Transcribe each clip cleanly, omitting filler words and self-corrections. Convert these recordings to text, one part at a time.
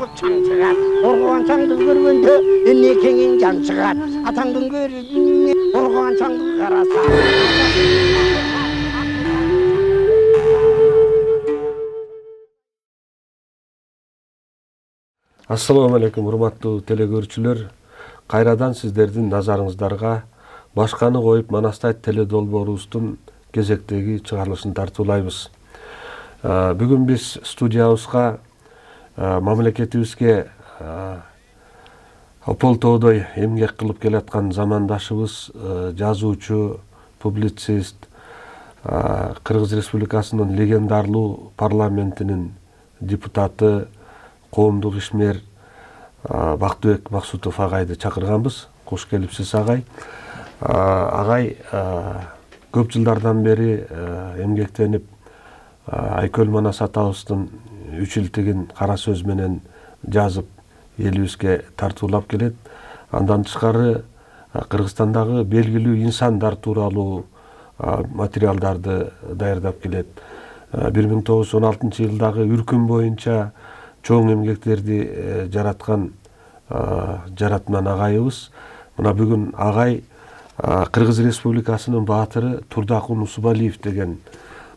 жогуп чаң чыгат. Оргуган чаңды көргөндө эмнекеңин жан чыгат. Атаңдын көзүнө оргуган чаңды караса. Ассаламу алейкум, урматтуу телекөрүүчүлөр. Кайрадан сиздердин назарыңыздарга Башканы коюп Манастай теледолбоорубуздун кезектеги чыгарылышын тартуулайбыз. Бүгүн биз студиябызга мамлекетибизге опол тоодой эмгек кылып келаткан замандашыбыз, жазуучу, публицист, Кыргыз Республикасынын легендарлуу парламентинин депутаты, коомдук ишмер Бактыбек Максутов агайды чакырганбыз. Кош келипсиз агай. Агай көп жылдардан бери эмгектенип Айкөл Манас атабыздын үчилтигин кара сөз менен жазып элибизге тартуулап келет. Андан тышкары Кыргызстандагы белгилүү инсандар тууралуу материалдарды даярдап келет. 1916-жылдагы үркүм боюнча чоң эмгектерди жараткан жаратман агайыбыз. Мына бүгүн агай Кыргыз Республикасынын баатыры Турдакун Усубалиев деген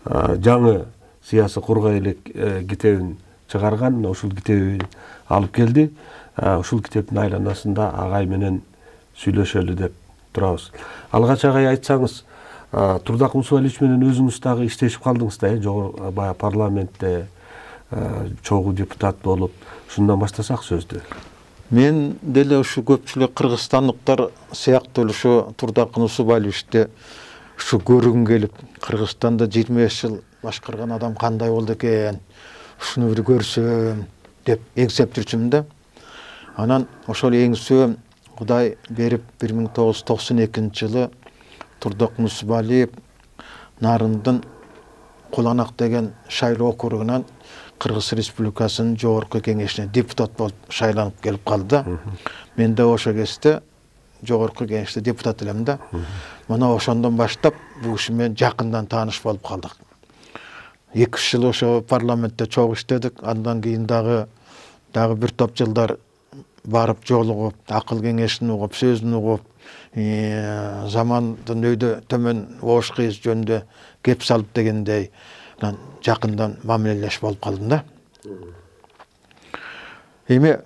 жаңы сыясий кургай элек китебин чыгарган. Ушул китеби алып келди. Ушул китептин айланасында агай менен сүйлөшөлү деп турабыз. Алгач агай айтсаңыз, Турдакун Усубалиевич менен өзүңүз дагы иштешип калдыңыз да, жогорку бая парламентте чогуу депутат болуп, ушундан баштасак сөздү. Мен деле ушу көпчүлүк кыргызстандыктар сыяктуу ушу Турдакун Усубалиевичти ушу көргүм келип, Кыргызстанда 25 жыл башкарган адам кандай болду экен, ушуну бир көрсөм деп эңсеп жүрчүмүн да. Анан ошол эңсөөм Кудай берип 1992-жылы Турдакун Усубалиев Нарындын Куланак деген шайлоо округунан Кыргыз Республикасынын жогорку кеңешине депутат болуп шайланып келип калды. Мен да ошо кезде жогорку кеңеште депутат элем да. Мына ошондон баштап бул киши менен жакындан тааныш болуп калдык. 2 жыл ошо парламентте чогуу иштедик. Андан кийин дагы бир топ жылдар барып жолугуп, акыл кеңешин угуп, сөзүн угуп, замандын өйдө төмөн ош кыйыз жөнүндө кеп салып дегендей жакындан мамилелеш болуп калдым да. Эми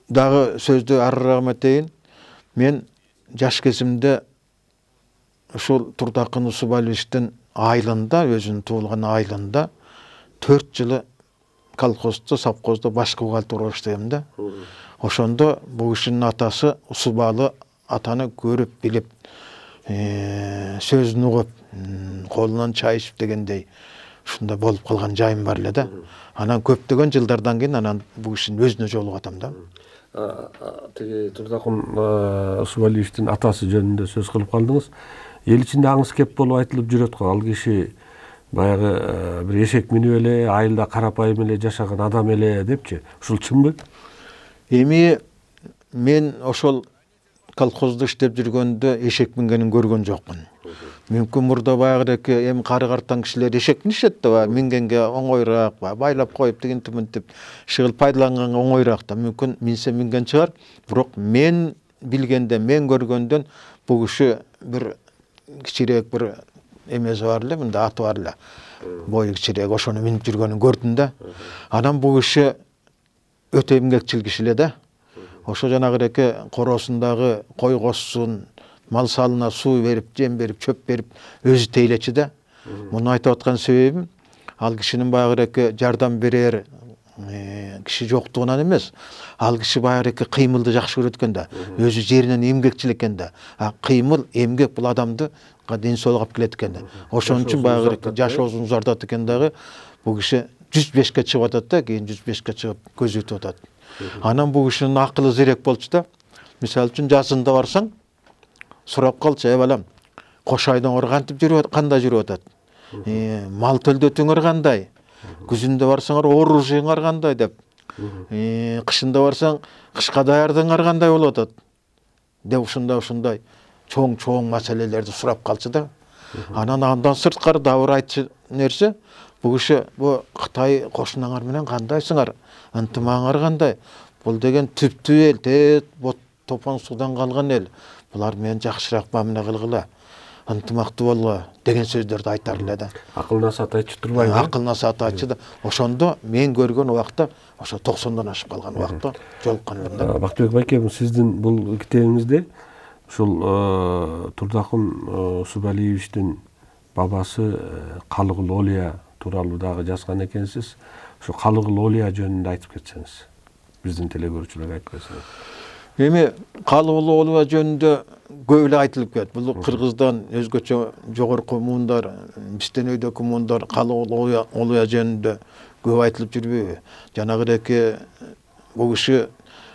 дагы сөздү арыраагыма этейин. Мен жаш кезимде ушул Турдакун Усубалиевичтин айылында, өзүнүн туулган айылында 4 жылы колхоздо, совхоздо баш бухгалтер болуп иштегем да. Ошондо бул кишинин атасы Усубалы атаны көрүп билип, сөзүн угуп, колунан чай ичип дегендей ушундай болуп калган жайым бар эле да. Анан көптөгөн жылдардан кийин анан бул кишинин өзүнө жолугуп атам да. Тиги Турдакун Усубалиевичтин атасы жөнүндө сөз кылып калдыңыз. Эл ичинде аңыз кеп болуп айтылып жүрөт го. Ал киши баягы бир эшек минип эле, айылда карапайым эле жашаган адам эле депчи. Ушул чынбы? Эми мен ошол колхоздо иштеп жүргөндө эшек мингенин көргөн жокмун. Мүмкүн мурда баягыдеки эми кары картан кишилер эшек минишет да, мингенге оңойраак, байлап коюп тигинтип шыгыл пайдаланганга оңойраак да. Мүмкүн минсе минген чыгар. Бирок мен билгенде, мен көргөндөн бул киши бир кичирээк бир эмеси бар эле, мында аты бар эле. Бою кичирээк ошону минип жүргөнүн көрдүм да. Анан бул киши өтө эмгекчил киши эле да. Ошо жанагыдеки коросундагы кой косун, мал салына суу берип, жем берип, чөп берип, өзү тейлечи да. Муну айтып аткан себебим, ал кишинин баягыдеки жардам берер киши жоктугунан эмес. Ал киши баягыдеки кыймылды жакшы көрөт экен да. Өзү жеринен эмгекчил экен да. Кыймыл, эмгек бул адамды ден соолук алып келет экен да. Ошон үчүн баягыдеки жашоосун узартат экен дагы. Бул киши 105ке чыгып атат да, кийин 105ке чыгып көзөтүп атат. Анан бул кишинин акылы зерек болчу да. Мисалы үчүн жазында барсаң, сурап калчу, балам, кош айдоңор кантип жүрүп, кандай жүрүп атат? Мал төлдөтүңөр кандай? Күзүндө барсаңар оружиеңар кандай деп. Кышында барсаң, кышка даярдыгыңар кандай болуп атат? Деп ушундай чоң маселелерди сурап калчу да. Анан андан сырткары дагы бир айтчу нерсе, бул киши бу Кытай кошунаңар менен кандайсыңар, ынтымагыңар кандай? Бул деген түптүү эл, тет топон судан калган эл. Булар менен жакшыраак мамиле кылгыла, ынтымактуу болгула деген сөздөрдү айтар эле да. Акыл насаат айтчу турбайбы? Акыл насаат айтчу да. Ошондо мен көргөн убакта ошо 90дан ашып калган убакта жолуккан элем да. Бактыбек байке, сиздин бул китебиңизде ушул Турдакун Усубалиевичтин бабасы Калыгул Олия тууралуу дагы жазган экенсиз. Ошо Калыгул Олия жөнүндө айтып кетсеңиз, биздин телекөрүүчүлөргө айтып кетсеңиз. Эми Калыгул Олия жөнүндө көп эле айтылып кетти. Бул Кыргыздан өзгөчө жогорку муундар, бизден өйдөкү муундар Калыгул Олия жөнүндө көп айтылып жүрбөйбү? Жанагыдеки бул киши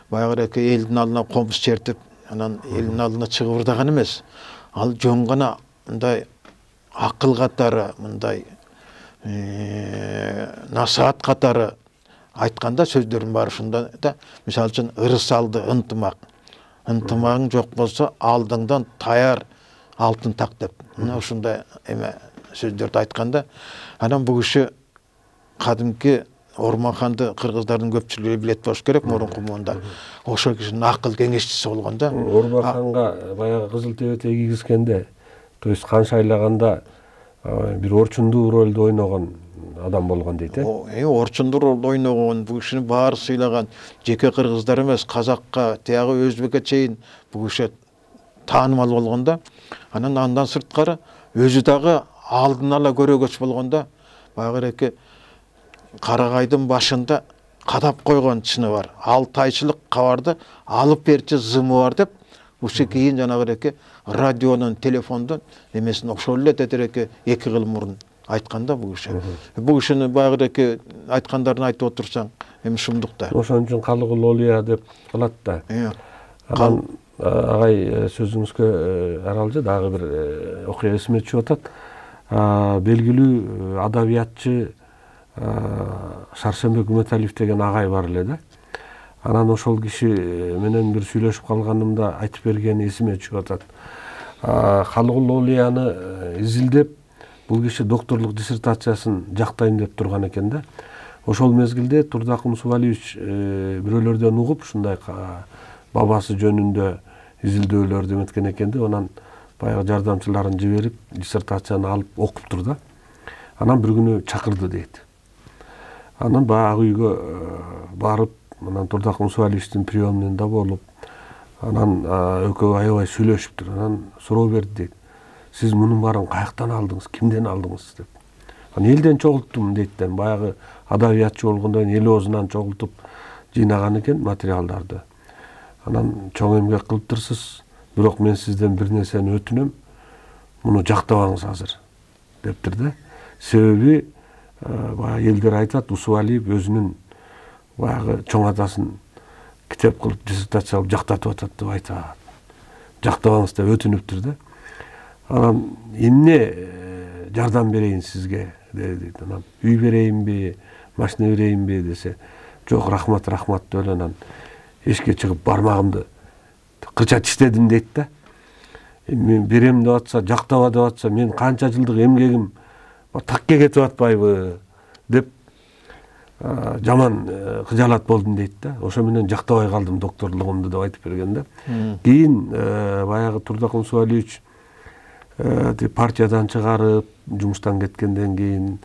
баягыдеки элдин алдына комуз чертип, анан элдин алдына чыгыбырдаган эмес. Ал жөн гана мындай акыл катары, мындай насаат катары айтканда сөздөрүн баары ушунда да. Мисалы үчүн ырыс алды ынтымак. Ынтымагың жок болсо алдыңдан таяр алтын так деп. Мына ушундай эме сөздөрдү айтканда, анан бул киши кадимки Орманханды кыргыздардын көпчүлүгү билет болуш керек, мурунку муундар. Ошол кишинин акыл кеңешчиси болгон да. Орманханга баягы Кызыл Тебете кийгизгенде, то есть хан шайлaganda бир орчундуу ролду ойногон адам болгон дейт, орчундуу ролду ойногон, бул кишини баары сыйлаган, жеке кыргыздар эмес, казакка, тиягы өзбекке чейин бул киши таанымал болгон да. Андан сырткары өзү дагы алдын ала көрөгөч болгон да. Баягы Карагайдын башында кадап койгон чыны бар. 6 айчылык кабарды алып берчи зымы бар деп, уши кийин жанагыдеки радионун, телефондун эмесин ошол эле тетиреке 2 кыл мурун айтканда бул киши. Бул кишини баягыдеки айткандарын айтып отурсаң, эми шумдук да. Ошон үчүн Калыгул Олия деп калат да. Анан агай сөзүңүзгө аралжы дагы бир окуя эсиме түшүп атат. Белгилүү адабиятчы Сарсенбек Үмөталиев деген агай бар эле да. Анан ошол киши менен бир сүйлөшүп калганымда айтып бергени эсиме түшүп атат. Калыгул Олияны изилдеп, бул киши докторлук диссертациясын жактайм деп турган экен да. Ошол мезгилде Турдакун Усубалиевич бирөөлөрдөн угуп, ушундай бабасы жөнүндө изилдөөлөрдү эметкен экен да. Анан баягы жардамчыларын жиберип, диссертацияны алып окуптур да. Анан bir күнү чакырды дейт. Анан баягы үйгө барып, анан Турдакун Усубалиевичтин приемныйында болуп, анан экөө аябай сүйлөшүптүр. Анан суроо берди дейт. Сиз мунун баарын каяктан алдыңыз, кимден алдыңыз деп. Анан элден чогулттум дейт. Баягы адабиятчы болгондон эл оозунан чогултуп жыйнаган экен материалдарды. Анан чоң эмгек кылыптырсыз, бирок мен сизден бир нерсени өтүнөм. Муну жактабаңыз азыр дептир да. Себеби баягы элдер айтат, Усубалиев өзүнүн баягы чоң атасын китеп кылып, диссертация кылып жактатып атат деп айтат. Жактабаңыз деп өтүнүптүр да. Анан эмне жардам берейин сизге дейт. Анан үй берейинби, машина берейинби десе, жок, рахмат деп эле анан эшикке чыгып бармагымды кырча тиштедим дейт да. Мен берем деп атса, жактаба деп атса, мен канча жылдык эмгегим такке кетип атпайбы деп жаман кыжаалат болдум дейт да. Ошо менен жактабай калдым докторлугумду деп айтып берген да. Кийин баягы Турдакун Усубалиевич партиядан чыгарып, жумуштан кеткенден кийин,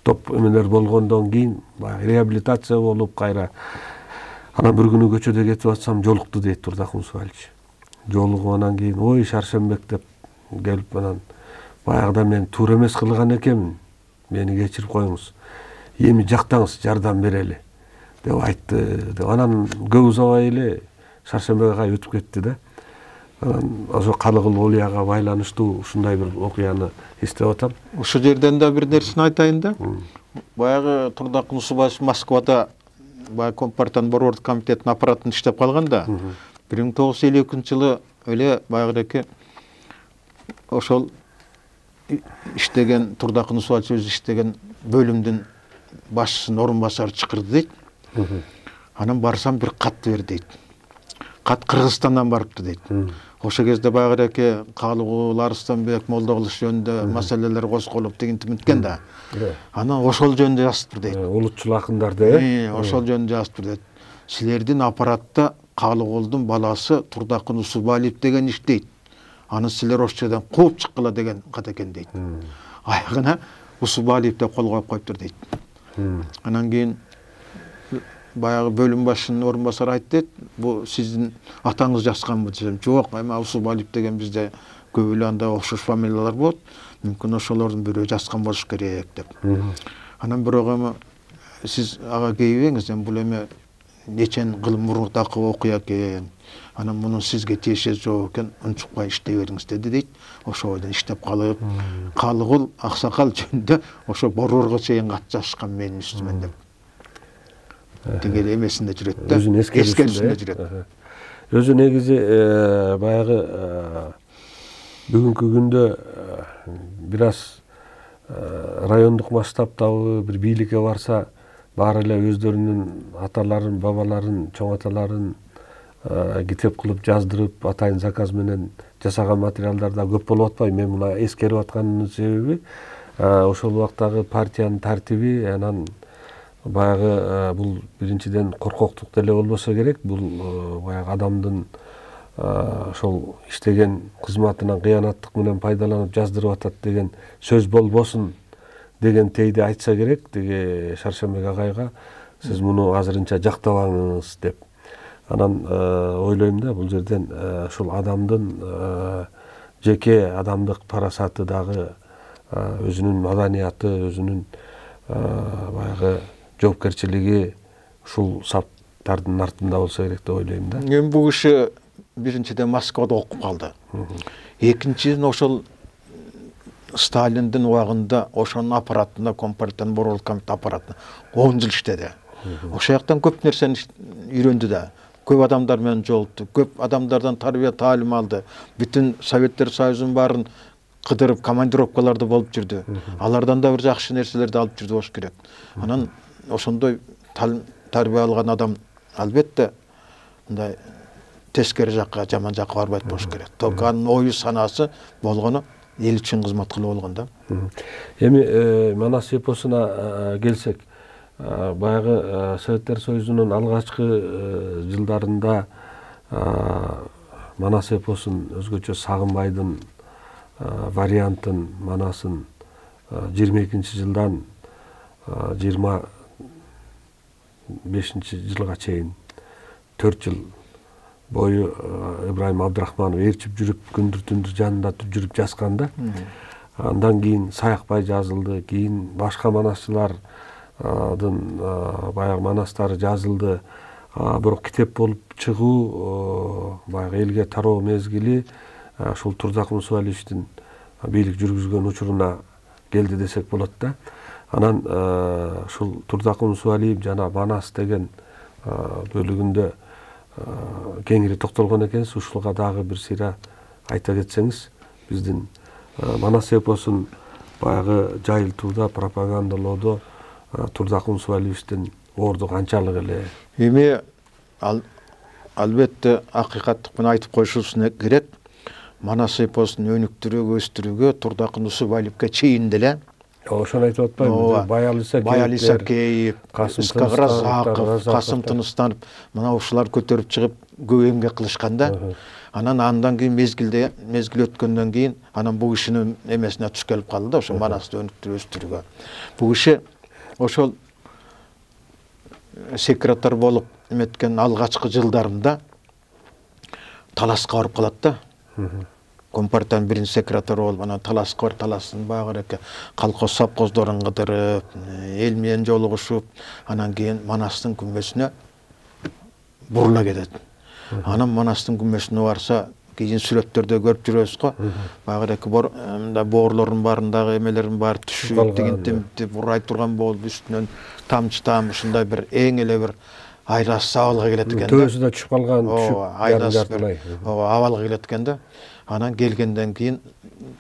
топ эмелер болгондон кийин баягы реабилитация болуп кайра. Анан bir күнү көчөдө кетип атсам жолукту дейт Турдакун Усубалиевич. Жолугуп анан кийин, ой Сарсенбек деп келип, анан баягыда мен туура эмес кылган экенмин. Мени кечирип коюңуз. Эми жактаңыз, жардам берели деп айтты. Анан көп узабай эле Сарсенбек агай өтүп кетти да. Анан ошо Калыгул Олияга байланыштуу ушундай бир окуяны эстеп атам. Ушул жерден да бир нерсени айтайын да. Баягы Турдакун Усубалиевич Москвада баягы Компартиянын борбордук комитетинин аппаратында иштеп калган да. 1952-жылы эле баягыдеки ошол иштеген Турдакун Усубалиевич иштеген бөлүмдүн башчысынын орун басары чакырды дейт. Анан барсам бир катты бер дейт. кат Кыргызстандан барыптыр дейт. Ошол кезде баягы Калыгул, Арыстанбек, Молдокулуш жөнүндө маселелер козголуп деген да. Анан ошол жөнүндө жазыптыр дейт. Улутчул акындарды, ошол жөнүндө жазыптыр дейт. Силердин аппаратта Калыгулдун баласы Турдакын Усубалиев деген иштейт. Аны силер ошол жерден кууп чыккыла деген кат экен дейт. Аягына Усубалиев деп кол коюп коюптур дейт. Анан кийин баягы бөлүм башчынын орун басары айтты, бу сиздин атаңыз жазганбы десем, жок, эми Усубалиев деген бизде көп эле анда окшош фамилиялар болот, мүмкүн ошолордун бирөө жазган болуш керек деп. Анан бирок эми сиз ага кейбеңиз, эми бул эми нечен кыл мурдакы окуя экен. Анан мунун сизге тиешеси жок экен, унчукпай иштей бериңиз деди дейт. Ошол бойдон иштеп калып, Калыгул аксакал жөнүндө ошо борборго чейин кат жазышкан менин үстүмөн деп. Тиги эмесинде жүрөт да. Өзүнүн эскерүүсүндө жүрөт. Өзү негизи баягы бүгүнкү күндө бир аз райондук масштабтагы бир бийликке барса, баары эле өздөрүнүн аталарын, бабаларын, чоң аталарын китеп кылып жаздырып, атайын заказ менен жасаган материалдар да көп болуп атпайбы? Мен мына эскерип атканымдын себеби ошол убактагы партиянын тартиби, анан баягы бул биринчиден коркоктук деле болбосо керек. Бул баягы адамдын ошол иштеген кызматынан кыянаттык менен пайдаланып жаздырып атат деген сөз болбосун деген тейди айтса керек деги Шаршембек агайга, сиз муну азырынча жактабаңыз деп. Анан ойлойм да, бул жерден ушул адамдын жеке адамдык парасаты дагы, өзүнүн маданияты, өзүнүн баягы жоопкерчилиги ушул саптардын артында болсо керек деп ойлойм да. Эми бул киши биринчиден Москвада окуп калды. Экинчиден ошол Сталиндин убагында ошонун аппаратында, Компартиянын борбордук комитет аппаратында 10 жыл иштеди. Ошол жактан көп нерсени үйрөндү да. Көп адамдар менен жолукту, көп адамдардан тарбия таалим алды. Бүтүн Советтер Союзунун баарын кыдырып, командировкаларда болуп жүрдү. Алардан да бир жакшы нерселерди алып жүрдү болуш керек. Анан ошондой тарбия алган адам албетте мындай тескери жакка, жаман жакка барбайт болуш керек. Только анын ою санаасы болгону эл үчүн кызмат кылуу болгон да. Эми Манас эпосуна келсек, баягы Советтер Союзунун алгачкы жылдарында Манас эпосун өзгөчө Сагынбайдын вариантын, Манасын 22-жылдан 25-жылга чейин 4 жыл бою Ибрайым Абдрахманов ээрчип жүрүп, күндүр түндүр жанында жүрүп жазганда, андан кийин Саякбай жазылды, кийин башка манасчылардын баягы манастары жазылды. Бирок китеп болуп чыгуу баягы элге тароо мезгили ушул Турдакын Усубалиевдин бийлик жүргүзгөн учуруна келди десек болот да. Анан ушул Турдакын Усубалиев жана Манас деген бөлүгүндө кеңири токтолгон экенсиз. Ушулга дагы бир сыйра айта кетсеңиз, биздин Манас эпосун баягы жайылтууда, пропагандалоодо Турдакын Усубалиевдин орду канчалык эле? Эми албетте акыйкаттык менен айтып коюшубуз керек. Манас эпосун өнүктүрүүгө, өстүрүүгө Турдакын Усубалиевге чейин деле ошону айтып атпайбы? Баял Исакеев, Исқақ Разақов, Касым Тыныстанов, мына ушулар көтөрүп чыгып көп эмгек кылышканда, анан андан кийин мезгил өткөндөн кийин анан бул кишинин эмесине туш келип калды да, ошо Манасты өнүктүрүп өстүрүүгө. Бул киши ошол секретарь болуп эметкен алгачкы жылдарында таласка барып калат да. Компартиянын биринчи секретары болуп, анан таласка бар, таластын баягы колхоз совхоздорун кыдырып, эл менен жолугушуп, анан кийин Манастын күмбөзүнө бурула кетет. Анан Манастын күмбөзүнө барса, кийин сүрөттөрдө көрүп жүрөбүз го. Баягы боорлордун баарындагы эмелердин баары түшүп, тигинтип бурай турган болуп, үстүнөн тамчы таам ушундай бир эң эле бир айлас абалга келет экен да. Төөсү да түшүп калган, айлас бир абалга келет экен да. Анан келгенден кийин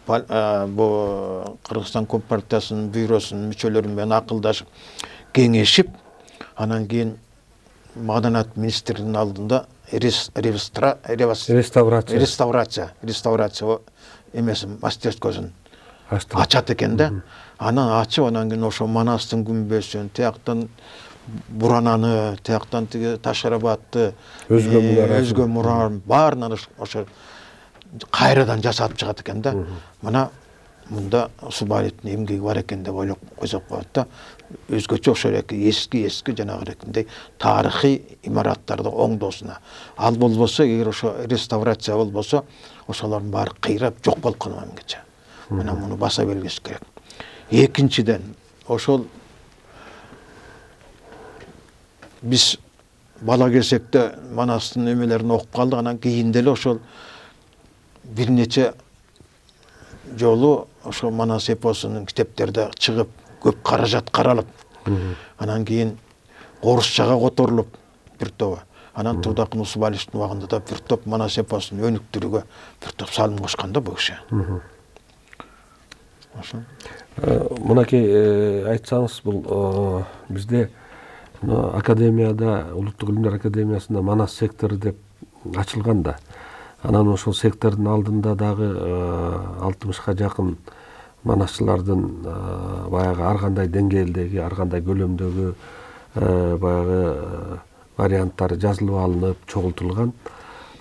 бу Кыргызстан Компартиясынын бюросунун мүчөлөрү менен акылдашып, кеңешип, анан кийин маданият министринин алдында реставрация эмесин мастерскосун ачат экен да. Анан ачып, анан кийин ошо Манастын күмбөзүн, тияктан Бурананы, тияктан тиги Ташарабатты, өзгө мураларын баарынан ошо кайрадан жасап чыгат экен да. Мына мында Субалиевдин эмгеги бар экен деп ойлоп койсок болот да. Өзгөчө ошо эски жанагы тарыхый имараттарды оңдоосуна. Ал болбосо, эгер ошо реставрация болбосо, ошолордун баары кыйрап жок болуп калмак эмгече. Мына муну баса белгилеш керек. Экинчиден, ошол биз бала кезекте Манастын эмелерин окуп калдык, анан кийин деле ошол бир нече жолу ошо Манас эпосунун китептерде чыгып, көп каражат каралып, анан кийин орусчага которулуп бир тобу. Анан Турдакын Усубалиевдин убагында да бир топ Манас эпосун өнүктүрүүгө бир топ салым кошкон да бул киши. Мынакей айтсаңыз, бул бизде академияда, Улуттук илимдер академиясында Манас сектору деп ачылган да. Анан ошол сектордун алдында дагы 60га жакын манасчылардын баягы ар кандай деңгээлдеги, ар кандай көлөмдөгү баягы варианттары жазылып алынып, чогултулган.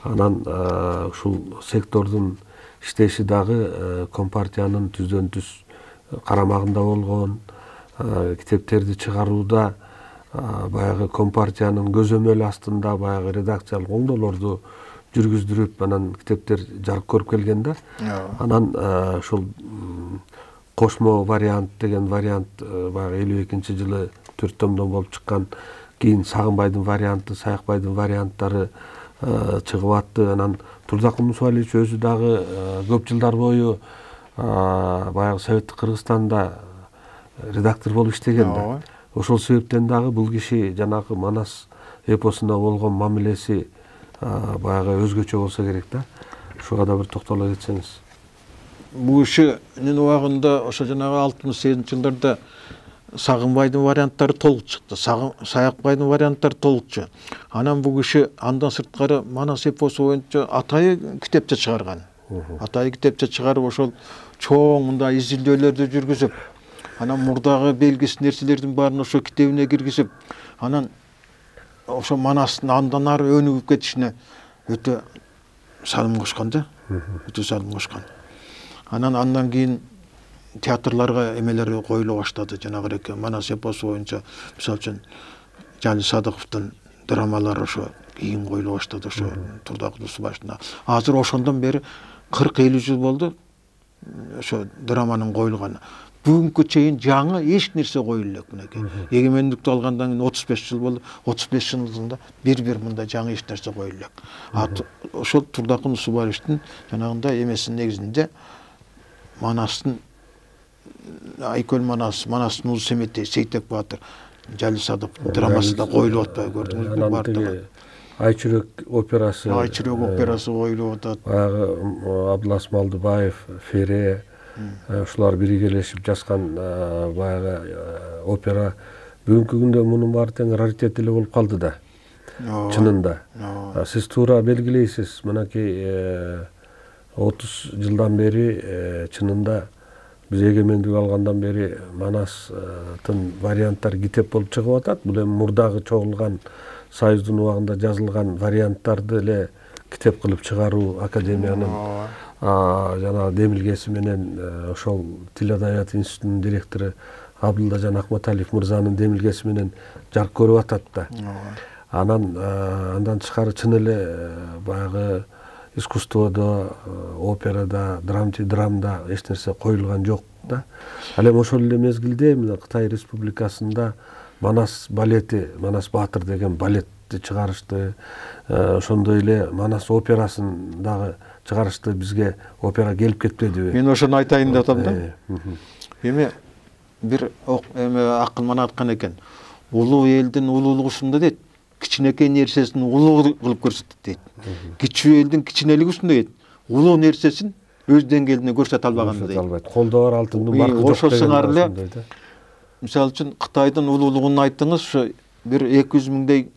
Анан ушул сектордун иштеши дагы Компартиянын түздөн түз карамагында болгон, китептерди чыгарууда баягы Компартиянын көзөмөлү астында баягы редакциялык оңдоолорду жүргүздүрүп, анан китептер жарык көрүп келген да. Анан ушул кошмо вариант деген вариант баягы 52-жылы 4 томдон болуп чыккан. Кийин Сагынбайдын варианты, Саякбайдын варианттары чыгып атты. Анан Турдакын Усубалиевич өзү дагы көп жылдар бою баягы Советтик Кыргызстанда редактор болуп иштеген да. Ошол себептен дагы бул киши жанагы Манас эпосуна болгон мамилеси баягы өзгөчө болсо керек да. Ушуга да бир токтоло кетсеңиз. Бул кишинин убагында ошо жанагы 68-жылдарда Сагынбайдын варианттары толук чыкты. Саякбайдын варианттары толукчу. Анан бул киши андан сырткары Манас эпосу боюнча атайы китепче чыгарган. Атайы китепче чыгарып, ошол чоң мындай изилдөөлөрдү жүргүзүп, анан мурдагы белгисиз нерселердин баарын ошо китебине киргизип, анан ошо Манастын андан ары өнүгүп кетишине өтө салым кошкон да. Өтө салым кошкон. Андан кийин театрларга эмелери коюла баштады. Жанагы Манас эпосу боюнча, мисалы үчүн Жали Садыковдун драмалары ошо кийин коюла баштады, ошо Турдакын Усубалиевдин. Азыр ошондон бери 40-50 жыл болду ошо драманын коюлганы. Бүгүнкү чейин жаңы эч нерсе коюла элек мынакей. Эгемендикти алгандан кийин 35 жыл болду. 35 жылында бир мындай жаңы эч нерсе коюла элек. Ошол Турдакын Усубалиевдин жанагындай эмесинин негизинде Манастын Айкөл Манастын Улуу Семетей, Сейтек Баатыр, Жали Садыковдун драмасы да коюлуп атпайбы, көрдүңүзбү баардыгы? Айчүрөк операсы. Айчүрөк операсы коюлуп атат. Баягы Абдулас Малдыбаев, Фере, ушулар биригелешип жазган баягы опера. Бүгүнкү күндө мунун баары тең раритет эле болуп калды да. Чынында. Сиз туура белгилейсиз, мынакей 30 жылдан бери чынында биз эгемендик алгандан бери Манастын варианттары китеп болуп чыгып атат. Бул эми мурдагы чогулган Союздун убагында жазылган варианттарды эле китеп кылып чыгаруу академиянын жанагы демилгеси менен ошол Тил адабият институтунун директору Абдылдажан Акматалиев мырзанын демилгеси менен жарык көрүп атат да. Андан тышкары чын эле баягы искусстводо, операда, драмда эч нерсе коюлган жок да. Ал эми ошол эле мезгилде Кытай Республикасында Манас балети, Манас Баатыр деген балетти чыгарышты. Ошондой эле Манас операсын дагы чыгарышты. Бизге опера келип кетпедиби? Мен ошону айтайын деп атам да. Эми бир акын мана айткан экен. Улуу элдин улуулугусунда дейт, кичинекей нерсесин улуу кылып көрсөтөт дейт. Кичүү элдин кичинелиги устунда дейт, улуу нерсесин өз деңгээлине көрсөтө албаганда дейт. Колдо бар алтындын баркы жок деген. Ошол сыңар эле. Мисалы үчүн Кытайдын улуулугун айттыңыз, ошо бир 200 миңдей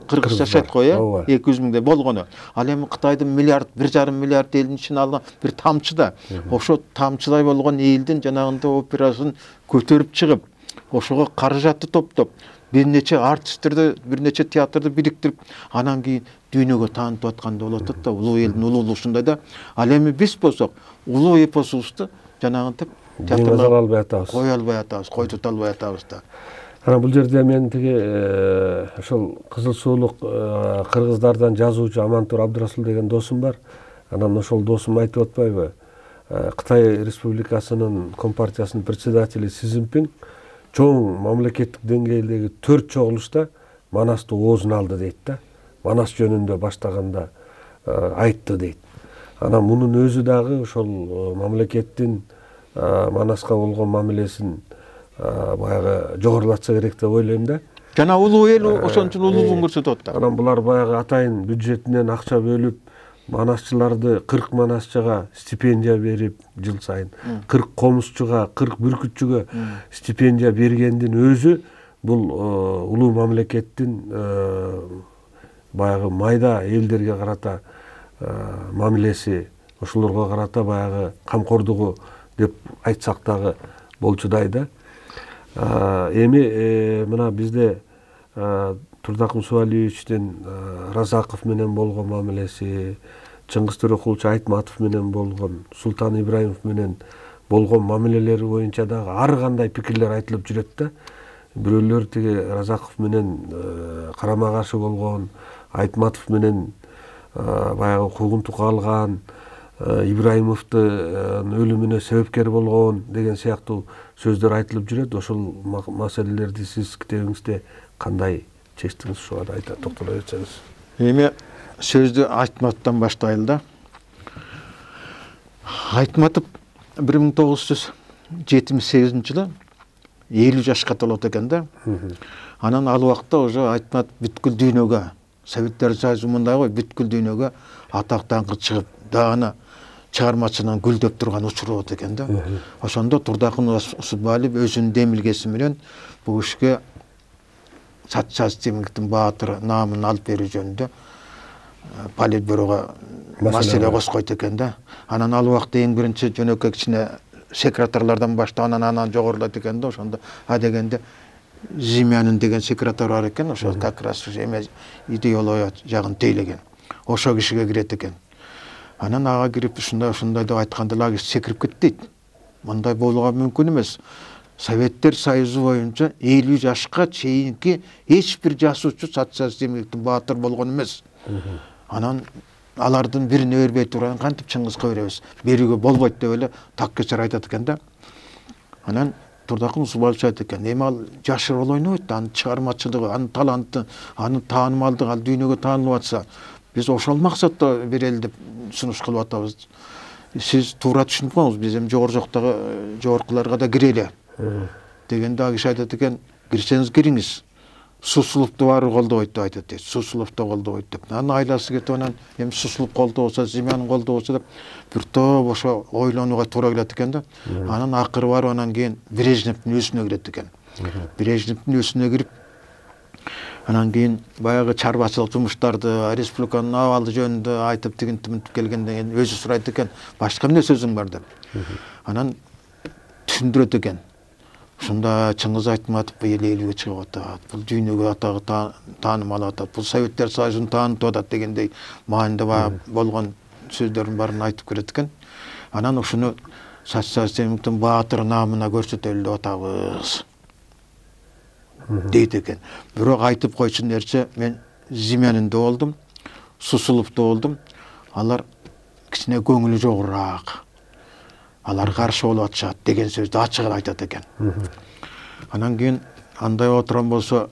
кыргыз жашайт го, 200 миңдей болгону. Ал эми Кытайдын миллиард, 1,5 миллиард элдин ичине алган бир тамчы да. Ошо тамчыдай болгон элдин жанагындай операсын көтөрүп чыгып, ошого каражатты топтоп, бир нече артисттерди, бир нече театрды бириктирип, анан кийин дүйнөгө таанытып атканда болот да, улуу элдин улуулугундай да. Ал эми биз болсок, улуу эпосубузду жанагынтип театрлар албай атабыз. Кой албай атабыз, кой тута албай атабыз да. Анан бул жерде мен тиги ошол Кызыл Суулук кыргыздардан жазуучу Амантур Абдырасул деген досум бар. Анан ошол досум айтып атпайбы? Кытай Республикасынын Компартиясынын председатели Си Цзиньпин чоң мамлекеттик деңгээлдеги 4 чогулушта Манасты оозуна алды дейт да. Манас жөнүндө баштаганда айтты дейт. Анан мунун өзү дагы ошол мамлекеттин Манаска болгон мамилесин баягы жогорулатса керек деп ойлойм да. Жана улуу эл ошончун улуулугун көрсөтөт да. Анан булар баягы атайын бюджетинен акча бөлүп, манасчыларды 40 манасчыга стипендия берип жыл сайын, 40 комузчуга, 40 бүркүтчүгө стипендия бергендин өзү бул улуу мамлекеттин баягы майда элдерге карата мамилеси, ошолорго карата баягы камкордугу деп айтсак дагы болчудай да. Эми мына бизде Турдакын Субалиевичтин Разаков менен болгон мамилеси, Чыңгыз Төрөкулчу Айтматов менен болгон, Султан Ибраимов менен болгон мамилелери боюнча дагы ар кандай пикирлер айтылып жүрөт да. Бирөөлөр тиги Разаков менен карама каршы болгон, Айтматов менен баягы куугунтук алган, Ибраимовдун өлүмүнө себепкер болгон деген сыяктуу сөздөр айтылып жүрөт. Ошол маселелерди сиз китебиңизде кандай чечтиңиз, ушуга да айта токтоло кетсеңиз. Эми сөздү Айтматовдон баштайлы да. Айтматов 1978 жылы 50 жашка толот экен да. Анан ал убакта уже Айтматов бүткүл дүйнөгө, Советтер Союзу мындай го, бүткүл дүйнөгө атак даңкы чыгып, дагы чыгармачылыгын гүлдөп турган учуру болот экен да. Ошондо Турдакын Усубалиев өзүнүн демилгеси менен бул ишке Сатчас Темиктин баатыры наамын алып берүү жөнүндө политбюрого маселе коскойт экен да. Анан ал убакта эң биринчи жөнөкөй кичине секретарлардан баштап анан жогорулайт экен да. Ошондо дегенде Зимянин деген секретарь бар экен, ошо как раз идеология жагын тейлеген. Ошо кишиге кирет экен. Анан ага кирип ушундай деп айтканда лагер секирип кетти. Мындай болууга мүмкүн эмес. Советтер Союзу боюнча 50 жашка чейинки эч бир жасуучу Сатчас Темиктин баатыр болгон эмес. Анан алардын бирине бербей турган кантип Чыңгызга беребиз? Берүүгө болбойт деп эле так кечер айтат экен да. Анан Турдакын Усубалиев айтат экен, эми ал жашыр роль ойнойт, анын чыгармачылыгы, анын таланты, анын таанымалдыгы ал дүйнөгө таанылып атса, биз ошол максатта берели деп сунуш кылып атабыз. Сиз туура түшүнүп коңуз, биз эми жогору жактагы жогоркуларга да кирели дегенде ал киши айтат экен, кирсеңиз кириңиз. Сусулукту баары колдобойт деп айтат дейт. Сусулукту колдобойт деп. Анын айласы кетип анан эми Сусулук колдобосо, Зимянин колдобосо деп бир топ ошо ойлонууга туура келет экен да. Анан акыры барып анан кийин Брежневдин өзүнө кирет экен. Брежневдин өзүнө кирип анан кийин баягы чарбачылык жумуштарды, республиканын абалы жөнүндө айтып тигинтип келгенден кийин өзү сурайт экен, башка эмне сөзүң бар деп. Анан түшүндүрөт экен. Ушунда Чыңгыз Айтматов элге чыгып атат, бул дүйнөгө атагы таанымал атат, бул Советтер Союзун таанытып атат дегендей маанинде болгон сөздөрдүн баарын айтып берет экен. Анан ушуну Сатчас Темиктин баатыр наамына көрсөтөлү деп атабыз дейт экен. Бирок айтып койчу нерсе, мен Зимянинде болдум, Сусуловдо болдум. Алар кичине көңүлү жогураак. Алар каршы болуп атышат деген сөздү ачык айтат экен. Анан кийин андай отурган болсо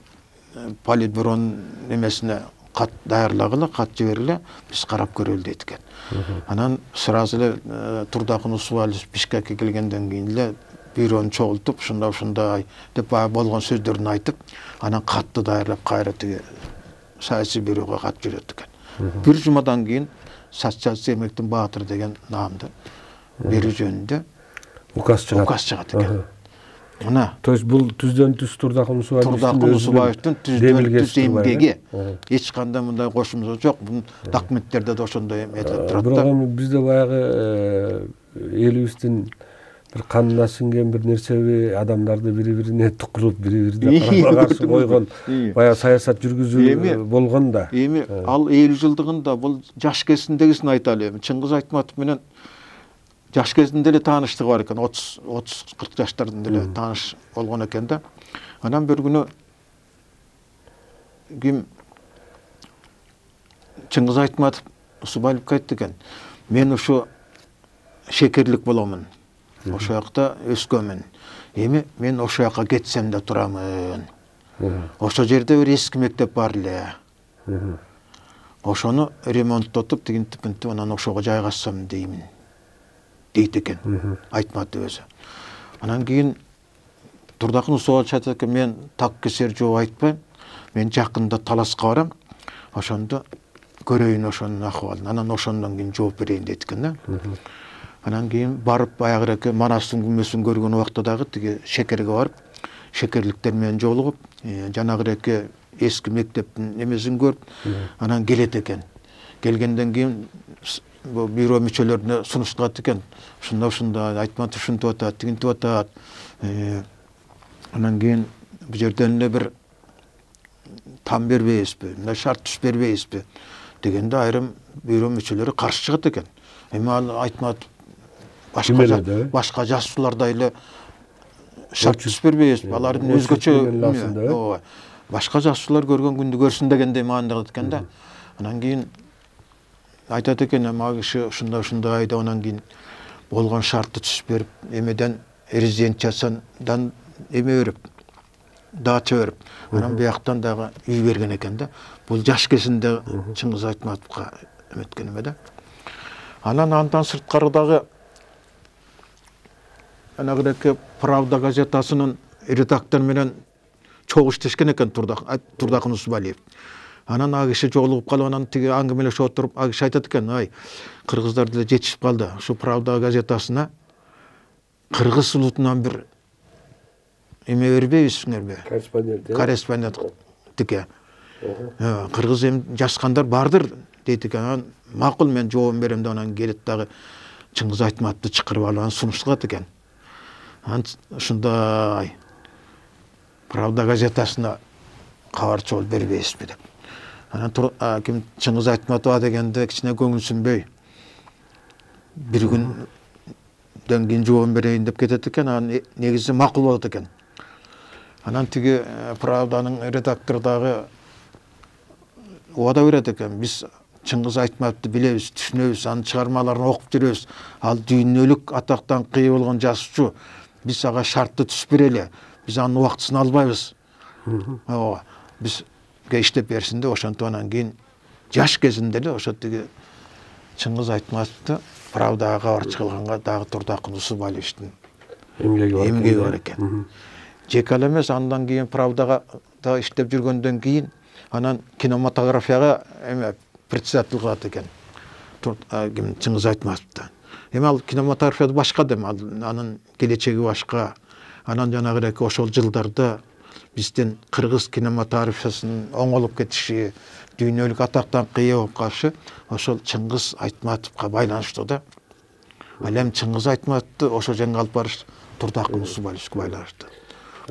политбюронун эмесине кат даярлагыла, кат жибергиле, биз карап көрөлү дейт экен. Анан сразу эле Турдакын Усубалиев Бишкекке келгенден кийин эле бюрону чогултуп, ушундай деп болгон сөздөрүн айтып, анан катты даярлап кайра тиги саясий бюрого кат жиберет экен. Бир жумадан кийин Сатчас Темиктин баатыр деген наамды берүү жөнүндө указ чыгат экен. Мына. То есть бул түздөн түз Турдакул Усубаевдин түздөн түз эмгеги. Эч кандай мындай кошумча жок. Бул документтерде да ошондой этилип турат да. Бирок бизде баягы элибиздин бир канына сиңген бир нерсеби, адамдарды бири-бирине тукулуп, бири-бирине карама каршы койгон баягы саясат жүргүзүү болгон да. Эми ал 50 жылдыгында бул жаш кезиндегисин айталы. Чыңгыз Айтматов менен жаш кезинде эле тааныштыгы бар экен. 30-40 жаштарында эле тааныш болгон экен да. Анан бир күнү ким Чыңгыз Айтматов Усубаевке айтты экен. Мен ушу шекерлик боломун. Ошо жакта өскөмүн. Эми мен ошо жака кетсем да турамын. Ошо жерде бир эски мектеп бар эле. Ошону ремонттотуп, тигинтип, анан ошого жайгашсам деймин. Дейт экен Айтматов өзү. Анан кийин Турдакул Усубаев айтат экен, мен так кесер жооп айтпайм. Мен жакында таласка барам. Ошондо көрөйүн ошонун акыбалын. Анан ошондон кийин жооп берейин дейт экен да. Анан кийин барып баягыраки Манастын күмөсүн көргөн убакта дагы тиги шекерге барып, шекерликтер менен жолугуп, жанагыраки эски мектептин эмесин көрүп, анан келет экен. Келгенден кийин бул бюро мүчөлөрүнө сунуштурат экен. Ушундай Айтматов ушинтип атат, тигинтип атат. Анан кийин бул жерден эле бир там бербейбизби, мындай шарт түз бербейбизби дегенде айрым бюро мүчөлөрү каршы чыгат экен. Эми ал Айтматов башка жасуулардай эле шарт түз бербейбиз. Алардын өзгөчө башка жасуулар көргөн күндү көрсүн дегендей маанидагат экен да. Анан кийин айтат экен, ага киши ушундай деп анан кийин болгон шартты түз берип, эмеден резиденциядан эме берип, дача берип, анан бияктан дагы үй берген экен да. Бул жаш кезинде Чыңгыз Айтматовго эметкен эме да. Анан андан сырткары дагы анагыраки Правда газетасынын редактор менен чогуу иштешкен экен Турдакул Усубаев. Анан ага киши жолугуп калып, анан тиги аңгемелешип отуруп, ага киши айтат экен, ай, кыргыздар деле жетишип калды. Ушу Правда газетасына кыргыз улутунан бир эме бербейбизиңерби? Корреспондент тике. Кыргыз эми жазгандар бардыр дейт экен. Анан макул, мен жообун берем деп анан келет дагы Чыңгыз Айтматовду чакырып алып анан сунуштурат экен. Анан ушундай Правда газетасына кабарчы болуп бербейсизби деп. Анан ким Чыңгыз Айтматов дегенде кичине көңүлсүнбөй бир күндөн кийин жообун берейин деп кетет экен. Анан негизи макул болот экен. Анан тиги Правданын редактору дагы убада берет экен. Биз Чыңгыз Айтматовду билебиз, түшүнөбүз, анын чыгармаларын окуп жүрөбүз. Ал дүйнөлүк атактан кыя болгон жазуучу. Биз ага шартты түз берели. Биз анын убактысын албайбыз. Бизге иштеп берсин деп ошентип анан кийин жаш кезинде эле ошо тиги Чыңгыз Айтматовду Правдага кабарчы кылганга дагы Турдакул Усубаевдин эмгеги бар экен. Жеке эле эмес, андан кийин Правдага да иштеп жүргөндөн кийин анан кинематографияга эме председатель кылат экен. Ким Чыңгыз Айтматовду. Эми ал кинематографияда башка да, анын келечеги башка. Анан жанагыраки ошол жылдарда биздин кыргыз кинематографиясынын оңолуп кетиши, дүйнөлүк атактан кыя болуп калышы ошол Чыңгыз Айтматовго байланыштуу да. Ал эми Чыңгыз Айтматовду ошол жерге алып барыш Турдакул Усубаевге байланыштуу.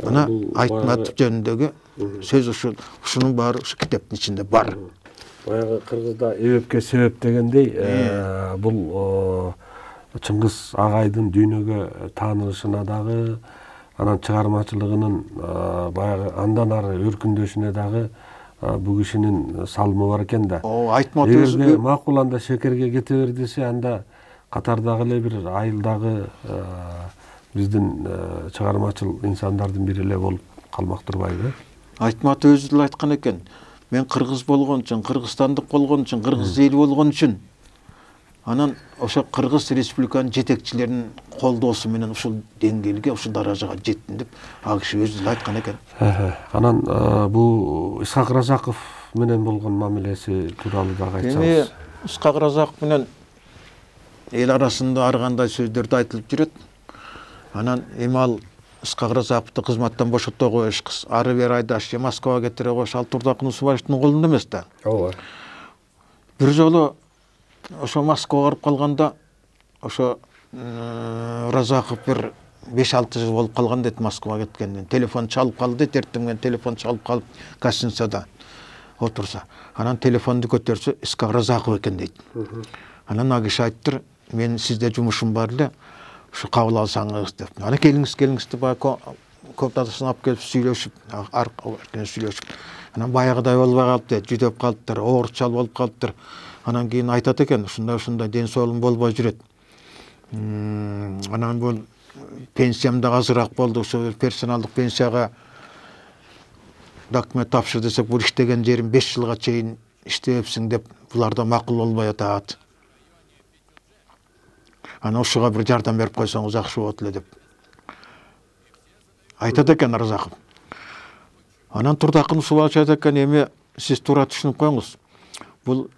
Мына Айтматов жөнүндөгү сөз ушунун баары ушу китептин ичинде бар. Баягы кыргызда эбепке себеп дегендей, бул Чыңгыз агайдын дүйнөгө таанылышына дагы, анан чыгармачылыгынын баягы андан ары өркүндөшүнө дагы бул кишинин салымы бар экен да. Айтматов өзү макул анда шекерге кете бер десе, анда катардагы эле бир айылдагы биздин чыгармачыл инсандардын бири эле болуп калмак турбайбы? Айтматов өзү деле айткан экен. Мен кыргыз болгон үчүн, кыргызстандык болгон үчүн, кыргыз эл болгон үчүн анан ошо Кыргыз Республиканын жетекчилеринин колдоосу менен ушул деңгээлге, ушул даражага жеттим деп ал киши өзү деле айткан экен. Анан бул Исхак Разаков менен болгон мамилеси тууралуу дагы айтсаңыз. Исхак Разаков менен эл арасында ар кандай сөздөрдү айтылып жүрөт. Анан эми ал Ысқақ Разаковду кызматтан бошото коюш, ары бери айдаш, же Москвага кетире коюш, ал Турдакын Усубаевдин колунда эмес да. ооба. Бир жолу ошо Москвага барып калганда, ошо Разаков бир 5-6 жыл болуп калган дейт Москвага кеткенден. Телефон чалып калды дейт, эртең менен телефон чалып калып гостиницада отурса. Анан телефонду көтөрсө, Ысқақ Разаков экен дейт. Анан ал киши айттыр, мен сизде жумушум бар эле, ушу кабыл алсаңыз деп. Ана келиңиз деп баягы комнатасына алып келип сүйлөшүп, сүйлөшүп. Анан баягыдай болбой калыптыр, жүдөп калыптыр, оорчал болуп калыптыр. Анан кийин айтат экен, ушундай ден соолугум болбой жүрөт. Анан бул пенсиям да азыраак болду, ошо персоналдык пенсияга документ тапшыр десек, бул иштеген жерим 5 жылга чейин иштебепсиң деп, булар да макул болбой атат. Ана ушуга бир жардам берип койсоңуз жакшы болот эле деп айтат экен Разаков. Анан Турдакын Усубаевич айтат экен, эми сиз туура түшүнүп коюңуз. Бул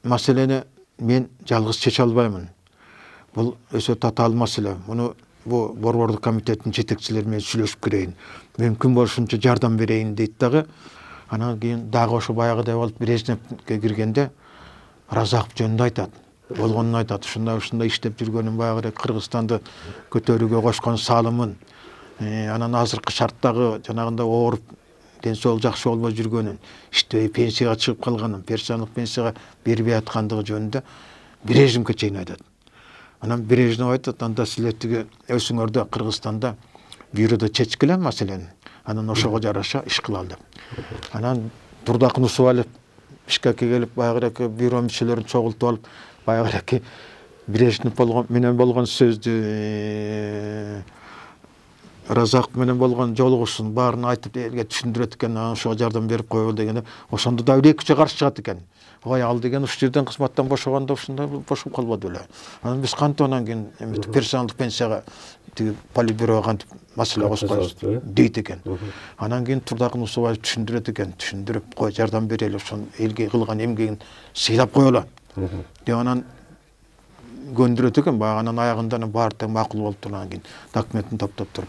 маселени мен жалгыз чече албаймын. Бул өсө татаал маселе. Муну бу борбордук комитеттин жетекчилери менен сүйлөшүп кирейин. Мүмкүн болушунча жардам берейин дейт дагы. Анан кийин дагы ошо баягыдай болуп Брежневке киргенде Разаков жөнүндө айтат. Болгонун айтат. Ушундай иштеп жүргөнүн, баягы Кыргызстанды көтөрүүгө кошкон салымын, анан азыркы шарттагы жанагындай ооруп, ден соолук жакшы болбой жүргөнүн, иштебей пенсияга чыгып калганын, персоналдык пенсияга бербей аткандыгы жөнүндө Брежневке чейин айтат. Анан Брежнев айтат, анда силер тиги өзүңөрдө Кыргызстанда бюрода чечкиле маселени. Анан ошого жараша иш кылалы деп. Анан Турдакын Усубаев Бишкекке келип, баягы бюро мүчөлөрүн чогултуп алып, баягы Брежнев менен болгон сөздү, Разаков менен болгон жолугушуун баарын айтып элге түшүндүрөт экен, ошого жардам берип койгул дегенде, ошондо да эки каршы чыгат экен. Ой, ал деген ушул жерден кызматтан бошогондо ушундай бошуп калбады беле. Анан биз кантип анан кийин персоналдык пенсияга тиги политбюрого кантип маселе козгойбуз дейт экен. Анан кийин Турдакын Усубаев түшүндүрөт экен, түшүндүрүп кой жардам берели, ошон элге кылган эмгегин сыйлап коелу деп анан көндүрөт экен. Баягы анан аягында баары тең макул болуп тургандан кийин документин топтоп туруп